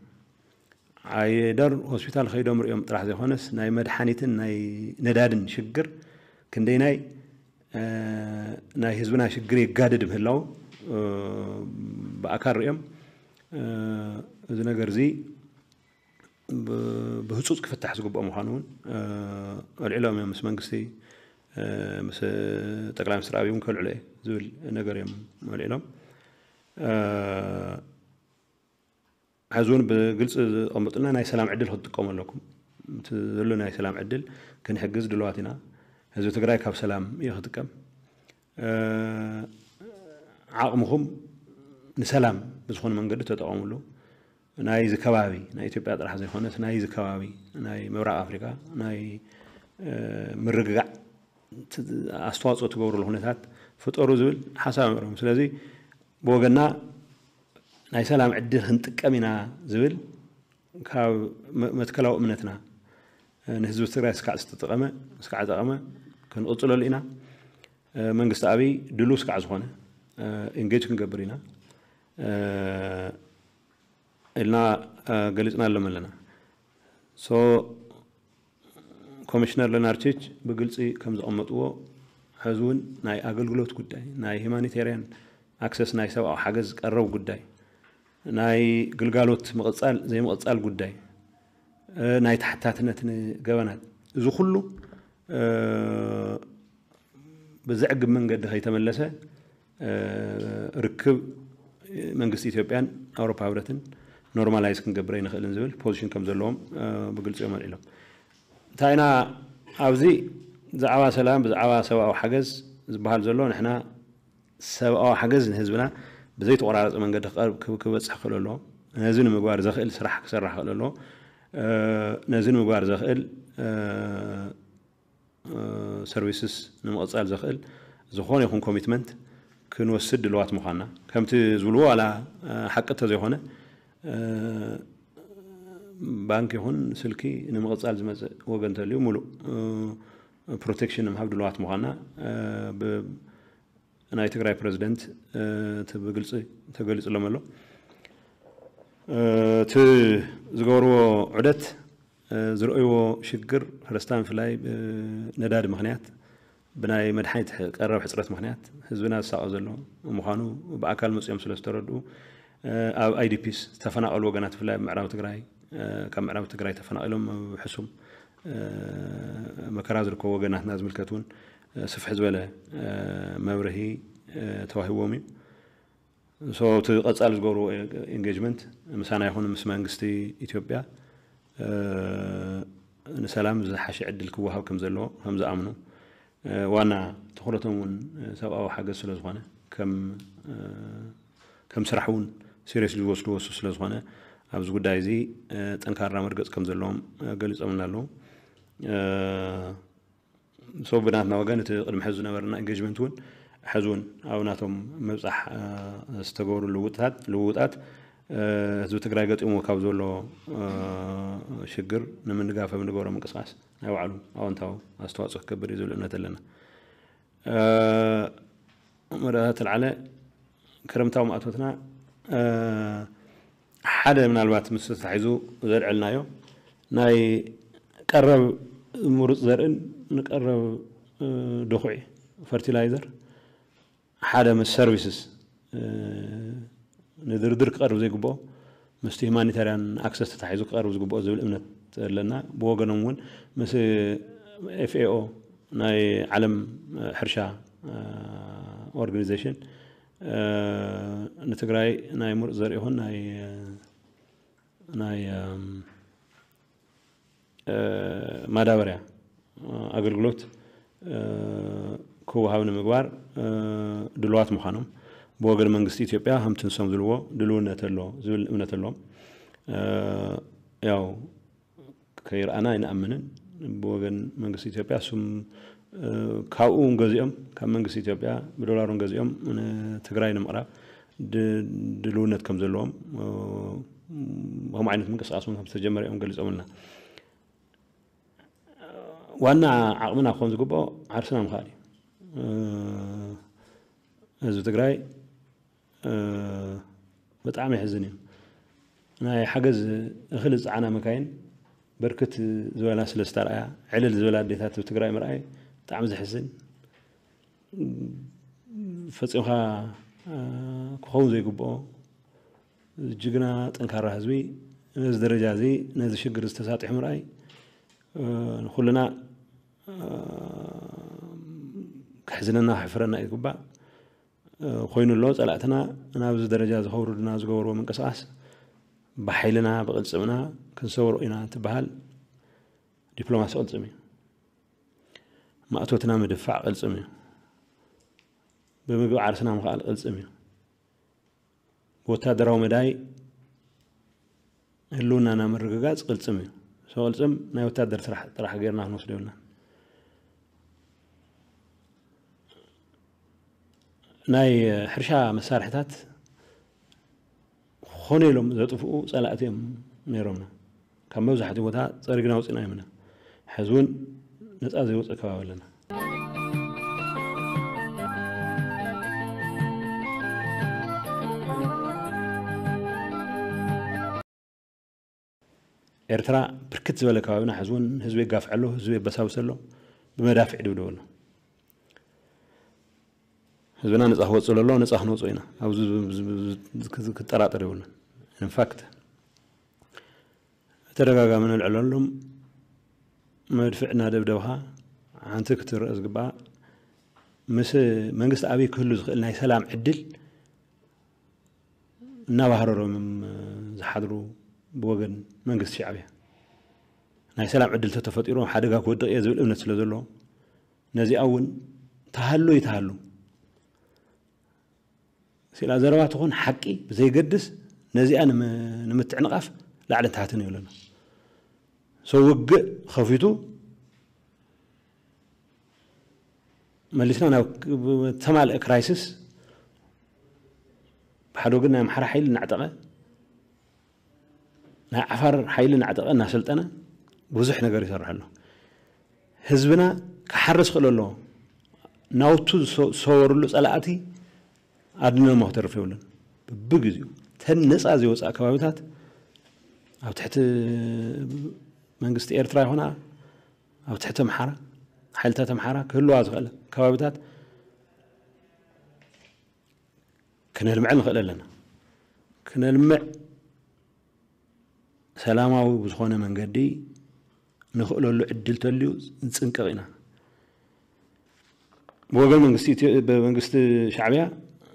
ዓይደር ሆስፒታል ከይዶም ሪኦም ጥራሕ ዘይኮነስ ናይ መድሓኒትን ናይ ነዳድን ሽግር ክንደይናይ ናይ ህዝብና ሽግር የጋድድ ምህላው ብኣካል ሪኦም እዚ ነገር እዚ ብህፁፅ ክፍታሕ ዝግብኦ ምዃኑ እውን ኣልዒሎም እዮም። ምስ መንግስቲ ምስ ጠቅላይ ሚኒስትር ኣብይ እውን ከልዕሎ እየ ዝብል ነገር እዮም ኣልዒሎም። ሕዚ እውን ብግልፂ ዘቐመጡልና ናይ ሰላም ዕድል ክትጥቀሙ ኣለኩም። እቲ ዘሎ ናይ ሰላም ዕድል ክንሕግዝ ድልዋት ኢና። ህዝቢ ትግራይ ካብ ሰላም እዩ ክጥቀም። ዓቕምኹም ንሰላም ብዝኾነ መንገዲ ተጠቐምሉ። ናይዚ ከባቢ ናይ ኢትዮጵያ ጥራሕ ዘይኮነስ ናይዚ ከባቢ ናይ ምብራቕ ኣፍሪካ ናይ ምርግጋዕ ኣስተዋፅኦ ትገብሩሉ ኩነታት ፍጠሩ ዝብል ሓሳብ ኣምዕሮም። ስለዚ ብወገና ናይ ሰላም ዕድል ክንጥቀም ኢና ዝብል ካብ መትከላዊ እምነትና፣ ንህዝቢ ትግራይ ስካዕ ዝተጠቐመ ስካዕ ጠቐመ ክንቕፅለሉ ኢና። መንግስቲ ኣብይ ድሉ ስካዕ ዝኾነ ኢንጌጅ ክንገብር ኢና ኢልና ገሊፅና ኣሎም ኣለና። ኮሚሽነር ለናርቺች ብግልፂ ከም ዘቐመጥዎ፣ ሕዚ እውን ናይ ኣገልግሎት ጉዳይ፣ ናይ ሂማኒቴርያን ኣክሰስ፣ ናይ ሰብኣዊ ሓገዝ ቀረብ ጉዳይ፣ ናይ ግልጋሎት ምቕፃል ዘይምቕፃል ጉዳይ፣ ናይ ተሓታትነት ንገበናት፣ እዚ ኩሉ ብዘዕግብ መንገዲ ከይተመለሰ ርክብ መንግስቲ ኢትዮጵያን ኣውሮፓ ህብረትን ኖርማላይዝ ክንገብር ኣይንኽእልን ዝብል ፖዚሽን ከም ዘለዎም ብግልፂ እዮም ኣልዒሎም። እንታይ ኢና ኣብዚ ብዛዕባ ሰላም፣ ብዛዕባ ሰብኣዊ ሓገዝ ዝበሃል ዘሎ፣ ንሕና ሰብኣዊ ሓገዝ ንህዝብና ብዘይተቆራረፀ መንገዲ ክበፅሕ ክእል ኣለዎ። ነዚ ንምግባር ዘኽእል ስራሕ ክሰራሕ ክእል ኣለዎ። ነዚ ንምግባር ዘኽእል ሰርቪስስ ንምቕፃል ዘኽእል ዝኾነ ይኹን ኮሚትመንት ክንወስድ ድልዋት ምዃንና፣ ከምቲ ዝብልዎ ዋላ ሓቂ እንተዘይኮነ፣ ባንክ ይኹን ስልኪ ንምቕፃል ዝመፅእ ወገን እንተልዩ ሙሉእ ፕሮቴክሽን ንምሃብ ድልዋት ምዃንና ናይ ትግራይ ፕረዚደንት እቲ ብግልፂ ተገሊፁሎም ኣሎ። እቲ ዝገበርዎ ዑደት ዝረእይዎ ሽግር፣ ፈረስታ ብፍላይ ብነዳዲ ምኽንያት፣ ብናይ መድሓኒት ቀረብ ሕፅረት ምኽንያት ህዝብና ዝሳቐ ዘሎ ምዃኑ ብኣካል መፅኦም ስለ ዝተረድኡ፣ ኣብ ኣይዲፒስ ዝተፈናቐሉ ወገናት፣ ብፍላይ ኣብ ምዕራብ ትግራይ፣ ካብ ምዕራብ ትግራይ ተፈናቒሎም ኣብ ሕሱም መከራ ዝርከቡ ወገናትና ዝምልከት እውን ስፍሕ ዝበለ መብርሂ ተዋሂቦም እዩ። እቲ ቀፃሊ ዝገብርዎ ኢንጌጅመንት ምሳና ይኹን ምስ መንግስቲ ኢትዮጵያ ንሰላም ዝሓሸ ዕድል ክወሃብ ከም ዘለዎ ከም ዝኣምኑ፣ ዋና ትኹረቶም እውን ሰብኣዊ ሓገዝ ስለ ዝኾነ፣ ከም ስራሕ እውን ሲሪየስሊ ዝወስድዎ እሱ ስለ ዝኾነ፣ ኣብዚ ጉዳይ እዚ ጠንካራ መርገፂ ከም ዘለዎም ገሊፆምና ኣለዉ። ብናትና ወገን እቲ ቅድሚ ሕዚ ዝነበረና ኢንጌጅመንት እውን ሕዚ እውን ኣብ ናቶም ምብፃሕ ዝተገበሩ ልውውጣት ህዝቢ ትግራይ ገጢሞ ካብ ዘሎ ሽግር ንምንጋፍ ኣብ ንገብሮ ምንቅስቃስ ናይ ባዕሉ ኣወንታዊ ኣስተዋፅኦ ክገብር እዩ ዝብል እምነት ኣለና። መረዳእታ ተልዓለ ክረምታዊ ማእቶትና ሓደ ምናልባት ምስ ተታሒዙ ዘልዐልናዮ ናይ ቀረብ ምሩፅ ዘርእን ንቀረብ ድኹዒ ፈርቲላይዘር ሓደ ምስ ሰርቪስስ ንድርድር ክቐርብ ዘይግብኦ ምስቲ ሂማኒታርያን ኣክሰስ ተታሒዙ ክቐርብ ዝግብኦ ዝብል እምነት ኣለና። ብወገኖም እውን ምስ ኤፍኤኦ ናይ ዓለም ሕርሻ ኦርጋኒዜሽን ንትግራይ ናይ ምሩፅ ዘርኢ ይኹን ናይ ናይ ማዳበርያ ኣገልግሎት ክወሃብ ንምግባር ድልዋት ምዃኖም ብወገን መንግስቲ ኢትዮጵያ ከምቲ ንሶም ዝብልዎ ድልውነት ኣሎ ዝብል እምነት ኣለዎም። ያው ከይረኣና ኣይንኣምንን። ብወገን መንግስቲ ኢትዮጵያ እሱም ካብኡ እውን ገዚኦም ካብ መንግስቲ ኢትዮጵያ ብዶላር እውን ገዚኦም ንትግራይ ንምቕራብ ድልውነት ከም ዘለዎም ከምኡ ዓይነት ምንቅስቃስ እውን ከም ዝተጀመረ እዮም ገሊፆምልና። ዋና ዓቕምና ክኾን ዝግብኦ ዓርስና ምኽኣል እዩ። ህዝቢ ትግራይ ብጣዕሚ የሕዝን እዩ። ናይ ሓገዝ እኽሊ ዝፀዓና መካይን በርክት ዝበላ ስለ ዝተርኣያ ዕልል ዝበላ ኣዴታት ኣብ ትግራይ ምርኣይ ብጣዕሚ ዘሕዝን ፈፂምካ ክኸውን ዘይግብኦ ጅግና ጠንካራ ህዝቢ ነዚ ደረጃ እዚ ነዚ ሽግር ዝተሳጢሑ ምርኣይ ንኩልና ከሕዝነና ከሕፍረና እዩ ዝግባእ። ኮይኑ ኣሎ ፀላእትና ናብዚ ደረጃ እዚ ከውርዱና ዝገበርዎ ምንቅስቃስ ብሓይልና ብቅልፅምና ክንሰብሮ ኢና እንትበሃል ዲፕሎማሲ ቅልፅም እዩ። ማእቶትና ምድፋዕ ቅልፅም እዩ። ብምግቢ ዓርስና ምኽኣል ቅልፅም እዩ። ብወታደራዊ መዳይ ህልውናና ምርግጋፅ ቅልፅም እዩ። ሶ ቅልፅም ናይ ወታደር ስራሕ ጥራሕ ጌርና ክንወስዶ የብልና። ናይ ሕርሻ መሳርሕታት ኾነ ኢሎም ዘጥፍኡ ጸላእቲ እዮም ነይሮምና። ካብ መብዛሕትኡ ቦታ ጸሪግና ኣውጺእናዮም ኢና። ሕዚ እውን ነጻ ዘይወፀ ከባቢ ኣለና። ኤርትራ ብርክት ዝበለ ከባቢና ሕዚ እውን ህዝቢ የጋፍዐ ኣሎ፣ ህዝቢ የበሳብሰ ኣሎ፣ ብመዳፍዕ ይድብደበ ኣሎ። ህዝብና ነፃ ክወፅእ ዘሎ፣ ነፃ ክንወፅኦ ኢና። ኣብዚ ክጠራጠር የብሉን። ኢንፋክት ተደጋጋሚ ንልዕለሎም መድፍዕ እናደብደብኻ ሓንቲ ክትረአ ዝግባኣ ምስ መንግስቲ ኣበይ ክህሉ ዝኽእል ናይ ሰላም ዕድል እናባህረሮም ዝሓድሩ ብወገን መንግስቲ ሻዕብያ ናይ ሰላም ዕድል ተተፈጢሩ ሓደጋ ክወድቕ እየ ዝብል እምነት ስለ ዘለዎ ነዚኣ እውን ተሃሉ ይተሃሉ ስላ ዘረባ ትኹን ሓቂ ብዘይገድስ ነዚኣ ንምትዕንቓፍ ላዕልን ታሕትን ይብለና። ሰው ውግእ ከፊቱ መሊስና ናብ ተማልአ ክራይሲስ ብሓደ ወገን ናይ ኣምሓራ ሓይሊ እናዕጠቐ ናይ ዓፋር ሓይሊ እናዕጠቐ እናሰልጠነ ብዙሕ ነገር ይሰርሕ ኣሎ። ህዝብና ክሓርስ ክእል ኣለዎ። ናውቱ ዝሰወርሉ ጸላእቲ ኣድነሞ ክተርፍ የብሉን። ብብግዚኡ ተን ነጻ ዘይወፅኣ ከባቢታት ኣብ ትሕቲ መንግስቲ ኤርትራ ይኹና ኣብ ትሕቲ ኣምሓራ ሓይልታት ኣምሓራ ክህልዋ ዝኽእል ከባቢታት ክነልምዐ ንኽእል ኣለና። ክነልምዕ ሰላማዊ ብዝኾነ መንገዲ ንኽእለሉ ዕድል ተልዩ ንፅንቀቕ ኢና። ብወገን መንግስቲ ኢትዮ- ብመንግስቲ ሻዕብያ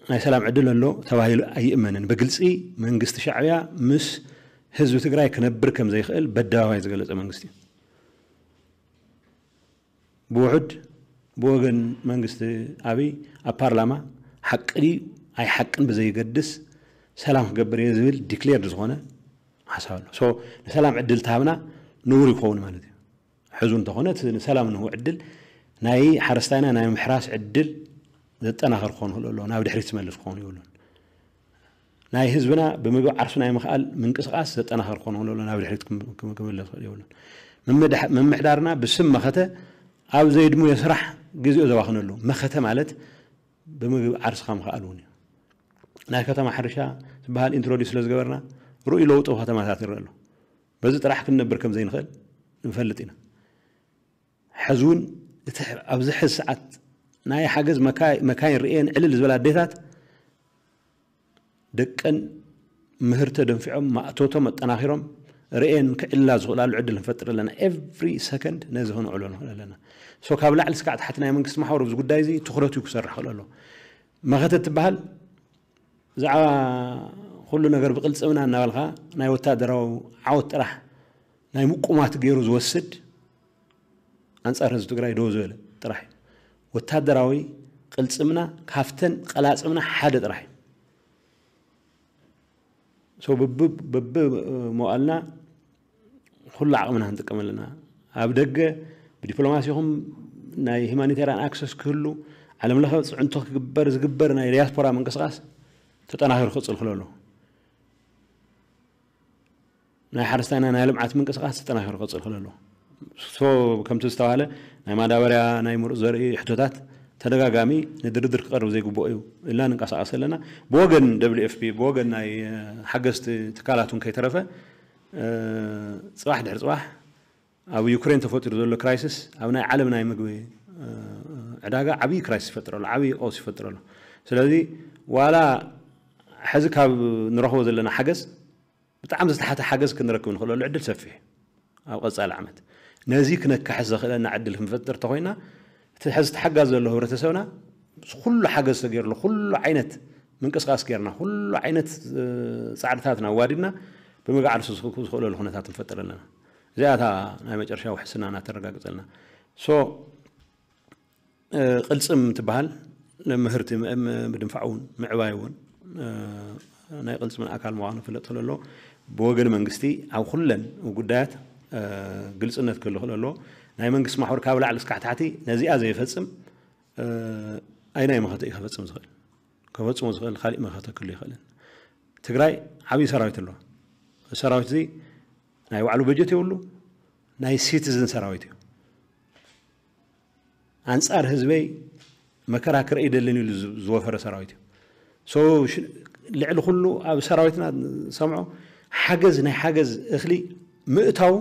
ናይ ሰላም ዕድል ኣሎ ተባሂሉ ኣይእመንን። ብግልፂ መንግስቲ ሻዕብያ ምስ ህዝቢ ትግራይ ክነብር ከም ዘይኽእል በደባባይ ዝገለፀ መንግስቲ እዩ። ብውሑድ ብወገን መንግስቲ ኣብይ ኣብ ፓርላማ ሓቂ ድዩ ኣይሓቅን ብዘይገድስ ሰላም ክገብር እየ ዝብል ዲክሌርድ ዝኾነ ሓሳብ ኣሎ። ሶ ንሰላም ዕድል ተሃብና ንቡር ይኸውን ማለት እዩ። ሕዙ እንተኾነ እቲ ንሰላም ንህቡ ዕድል ናይ ሓረስታይና ናይ ምሕራስ ዕድል ዘጠናኸር ክኾን ይኽእል ኣለዎ፣ ናብ ድሕሪት ዝመልስ ክኾን ይብሉን። ናይ ህዝብና ብምግቢ ዓርሱ ናይ ምኽኣል ምንቅስቓስ ዘጠናኸር ክኾን ይኽእል ኣለዎ፣ ናብ ድሕሪት ክም- ክም- ክምለስ ይኽእል ይብሉን። ምምድሕ- ምምሕዳርና ብስም መኸተ ኣብ ዘይድሙየ ስራሕ ግዜኡ ዘባኽነሉ መኸተ ማለት ብምግቢ ዓርስኻ ምኽኣል እውን እዩ። ናይ ከተማ ሕርሻ ዝበሃል ኢንትሮዲስ ስለ ዝገበርና ርኡይ ለውጢ ኣብ ከተማታት ይረአ ኣሎ። በዚ ጥራሕ ክንነብር ከም ዘይንኽእል ንፈልጥ ኢና። ሕዚ እውን እቲ ኣብዚ ሕዚ ሰዓት ናይ ሓገዝ መካ- መካይን ርእየን ዕልል ዝበላ ኣዴታት ደቀን ምህርተ ደንፊዖም ማእቶቶም ኣጠናኺሮም ርእየን ክዕላ ዝኽእላሉ ዕድል ንፈጥር ኣለና። ኤቭሪ ሰከንድ ነዚ ክንዕሎ ንኽእል ኣለና። ሶ ካብ ላዕሊ ስካዕ ታሕቲ ናይ መንግስቲ ማሕበር ኣብዚ ጉዳይ እዚ ትኹረቱ ክሰርሕ ክእል ኣሎ። መኸተ ትበሃል ብዛዕባ ኩሉ ነገር ብቅልፅምና እናበልካ ናይ ወታደራዊ ዓወት ጥራሕ ናይ ምቁማት ገይሩ ዝወስድ ኣንፃር ህዝቢ ትግራይ ደው ዝበለ ጥራሕ እዩ። ወታደራዊ ቅልፅምና ካብተን ቀላፅምና ሓደ ጥራሕ እዩ። ሶ በቢ በቢ መዋእልና ኩሉ ዓቕምና ክንጥቀም ኣለና። ኣብ ደገ ብዲፕሎማሲ ይኹን ናይ ሂማኒቴሪያን ኣክሰስ ክህሉ ዓለም ለኸ ፅዕንቶ ክግበር ዝግበር ናይ ዲያስፖራ ምንቅስቃስ ተጠናኺሩ ክፅል ክሎ ኣለዎ። ናይ ሓረስታይና ናይ ልምዓት ምንቅስቃስ ተጠናኺሩ ክፅል ክሎ ኣለዎ። ሶ ከምቲ ዝተባሃለ ናይ ማዳበርያ ናይ ምሩፅ ዘርኢ ሕቶታት ተደጋጋሚ ንድርድር ክቐርብ ዘይግብኦ እዩ ኢልና ንንቀሳቐስ ኣለና። ብወገን ደብሊው ኤፍ ፒ ብወገን ናይ ሓገዝቲ ትካላት እውን ከይተረፈ ፅባሕ ድሕሪ ፅባሕ ኣብ ዩክሬን ተፈጢሩ ዘሎ ክራይሲስ ኣብ ናይ ዓለም ናይ ምግቢ ዕዳጋ ዓብዪ ክራይሲስ ይፈጥር ኣሎ፣ ዓብዪ ቀውስ ይፈጥር ኣሎ። ስለዚ ዋላ ሕዚ ካብ ንረኽቦ ዘለና ሓገዝ ብጣዕሚ ዝተሓተ ሓገዝ ክንረክብ ንኽእለሉ ዕድል ሰፊሕ ኣብ ቀፃሊ ዓመት ነዚ ክነካሕስ ዘኽእለና ዕድል ክንፈጥር ተኮይና እቲ ሕዚ ተሓጋዝ ዘሎ ህብረተሰብና ኩሉ ሓገዝ ተገይርሉ ኩሉ ዓይነት ምንቅስቃስ ገይርና ኩሉ ዓይነት ፃዕርታትና ኣዋዲድና ብምግዓርሱ ዝኽእለሉ ኩነታት ንፈጥር ኣለና። እዚኣታ ናይ መጨረሻ ውሕስና እናተረጋግፀልና ሶ ቅልፅም ትበሃል ምህርቲ ምእም- ምድንፋዕ እውን ምዕባይ እውን ናይ ቅልፅምን ኣካል ምዃኑ ክፍለጥ ከለሎ ብወገን መንግስቲ ኣብ ኩለን ጉዳያት ግልፅነት ክህሉ ክለሎ ናይ መንግስቲ ማሕበር ካብ ላዕሊ እስካዕ ታሕቲ ነዚኣ ዘይፈፅም ኣይናይ መኸተ እዩ ከፈፅም ዝኽእል። ከፈፅሞ ዝኽእል ካሊእ መኸተ ክህሉ ይኽእልን። ትግራይ ዓብዪ ሰራዊት ኣለዋ። ሰራዊት እዚ ናይ ባዕሉ በጀት የብሉ፣ ናይ ሲቲዝን ሰራዊት እዩ። ኣንፃር ህዝበይ መከራ ክርኢ ደልን ኢሉ ዝወፈረ ሰራዊት እዩ። ልዕሊ ኩሉ ኣብ ሰራዊትና ሰምዖ ሓገዝ ናይ ሓገዝ እኽሊ ምእታው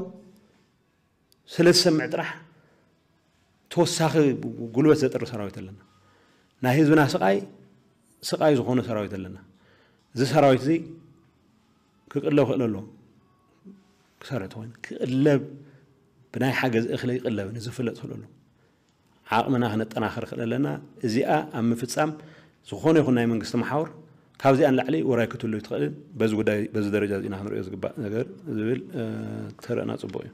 ስለ ዝሰምዕ ጥራሕ ተወሳኺ ጉልበት ዘጥሪ ሰራዊት ኣለና። ናይ ህዝብና ስቃይ ስቃይ ዝኾነ ሰራዊት ኣለና። እዚ ሰራዊት እዚ ክቅለብ ክእል ኣሎ። ክሰርሕ ተኮይኑ ክቅለብ ብናይ ሓገዝ እኽሊ ይቅለብ ንዝፍለጥ ክእል ኣሎ። ዓቕምና ክነጠናኸር ክእል ኣለና። እዚኣ ኣብ ምፍፃም ዝኾነ ይኹን ናይ መንግስቲ መሓውር ካብዚኣ ንላዕሊ ውራይ ክትህሉ ትኽእልን በዚ ጉዳይ በዚ ደረጃ እዚና ክንሪኦ ዝግባእ ነገር ዝብል ተርእና ፅቡቅ እዩ።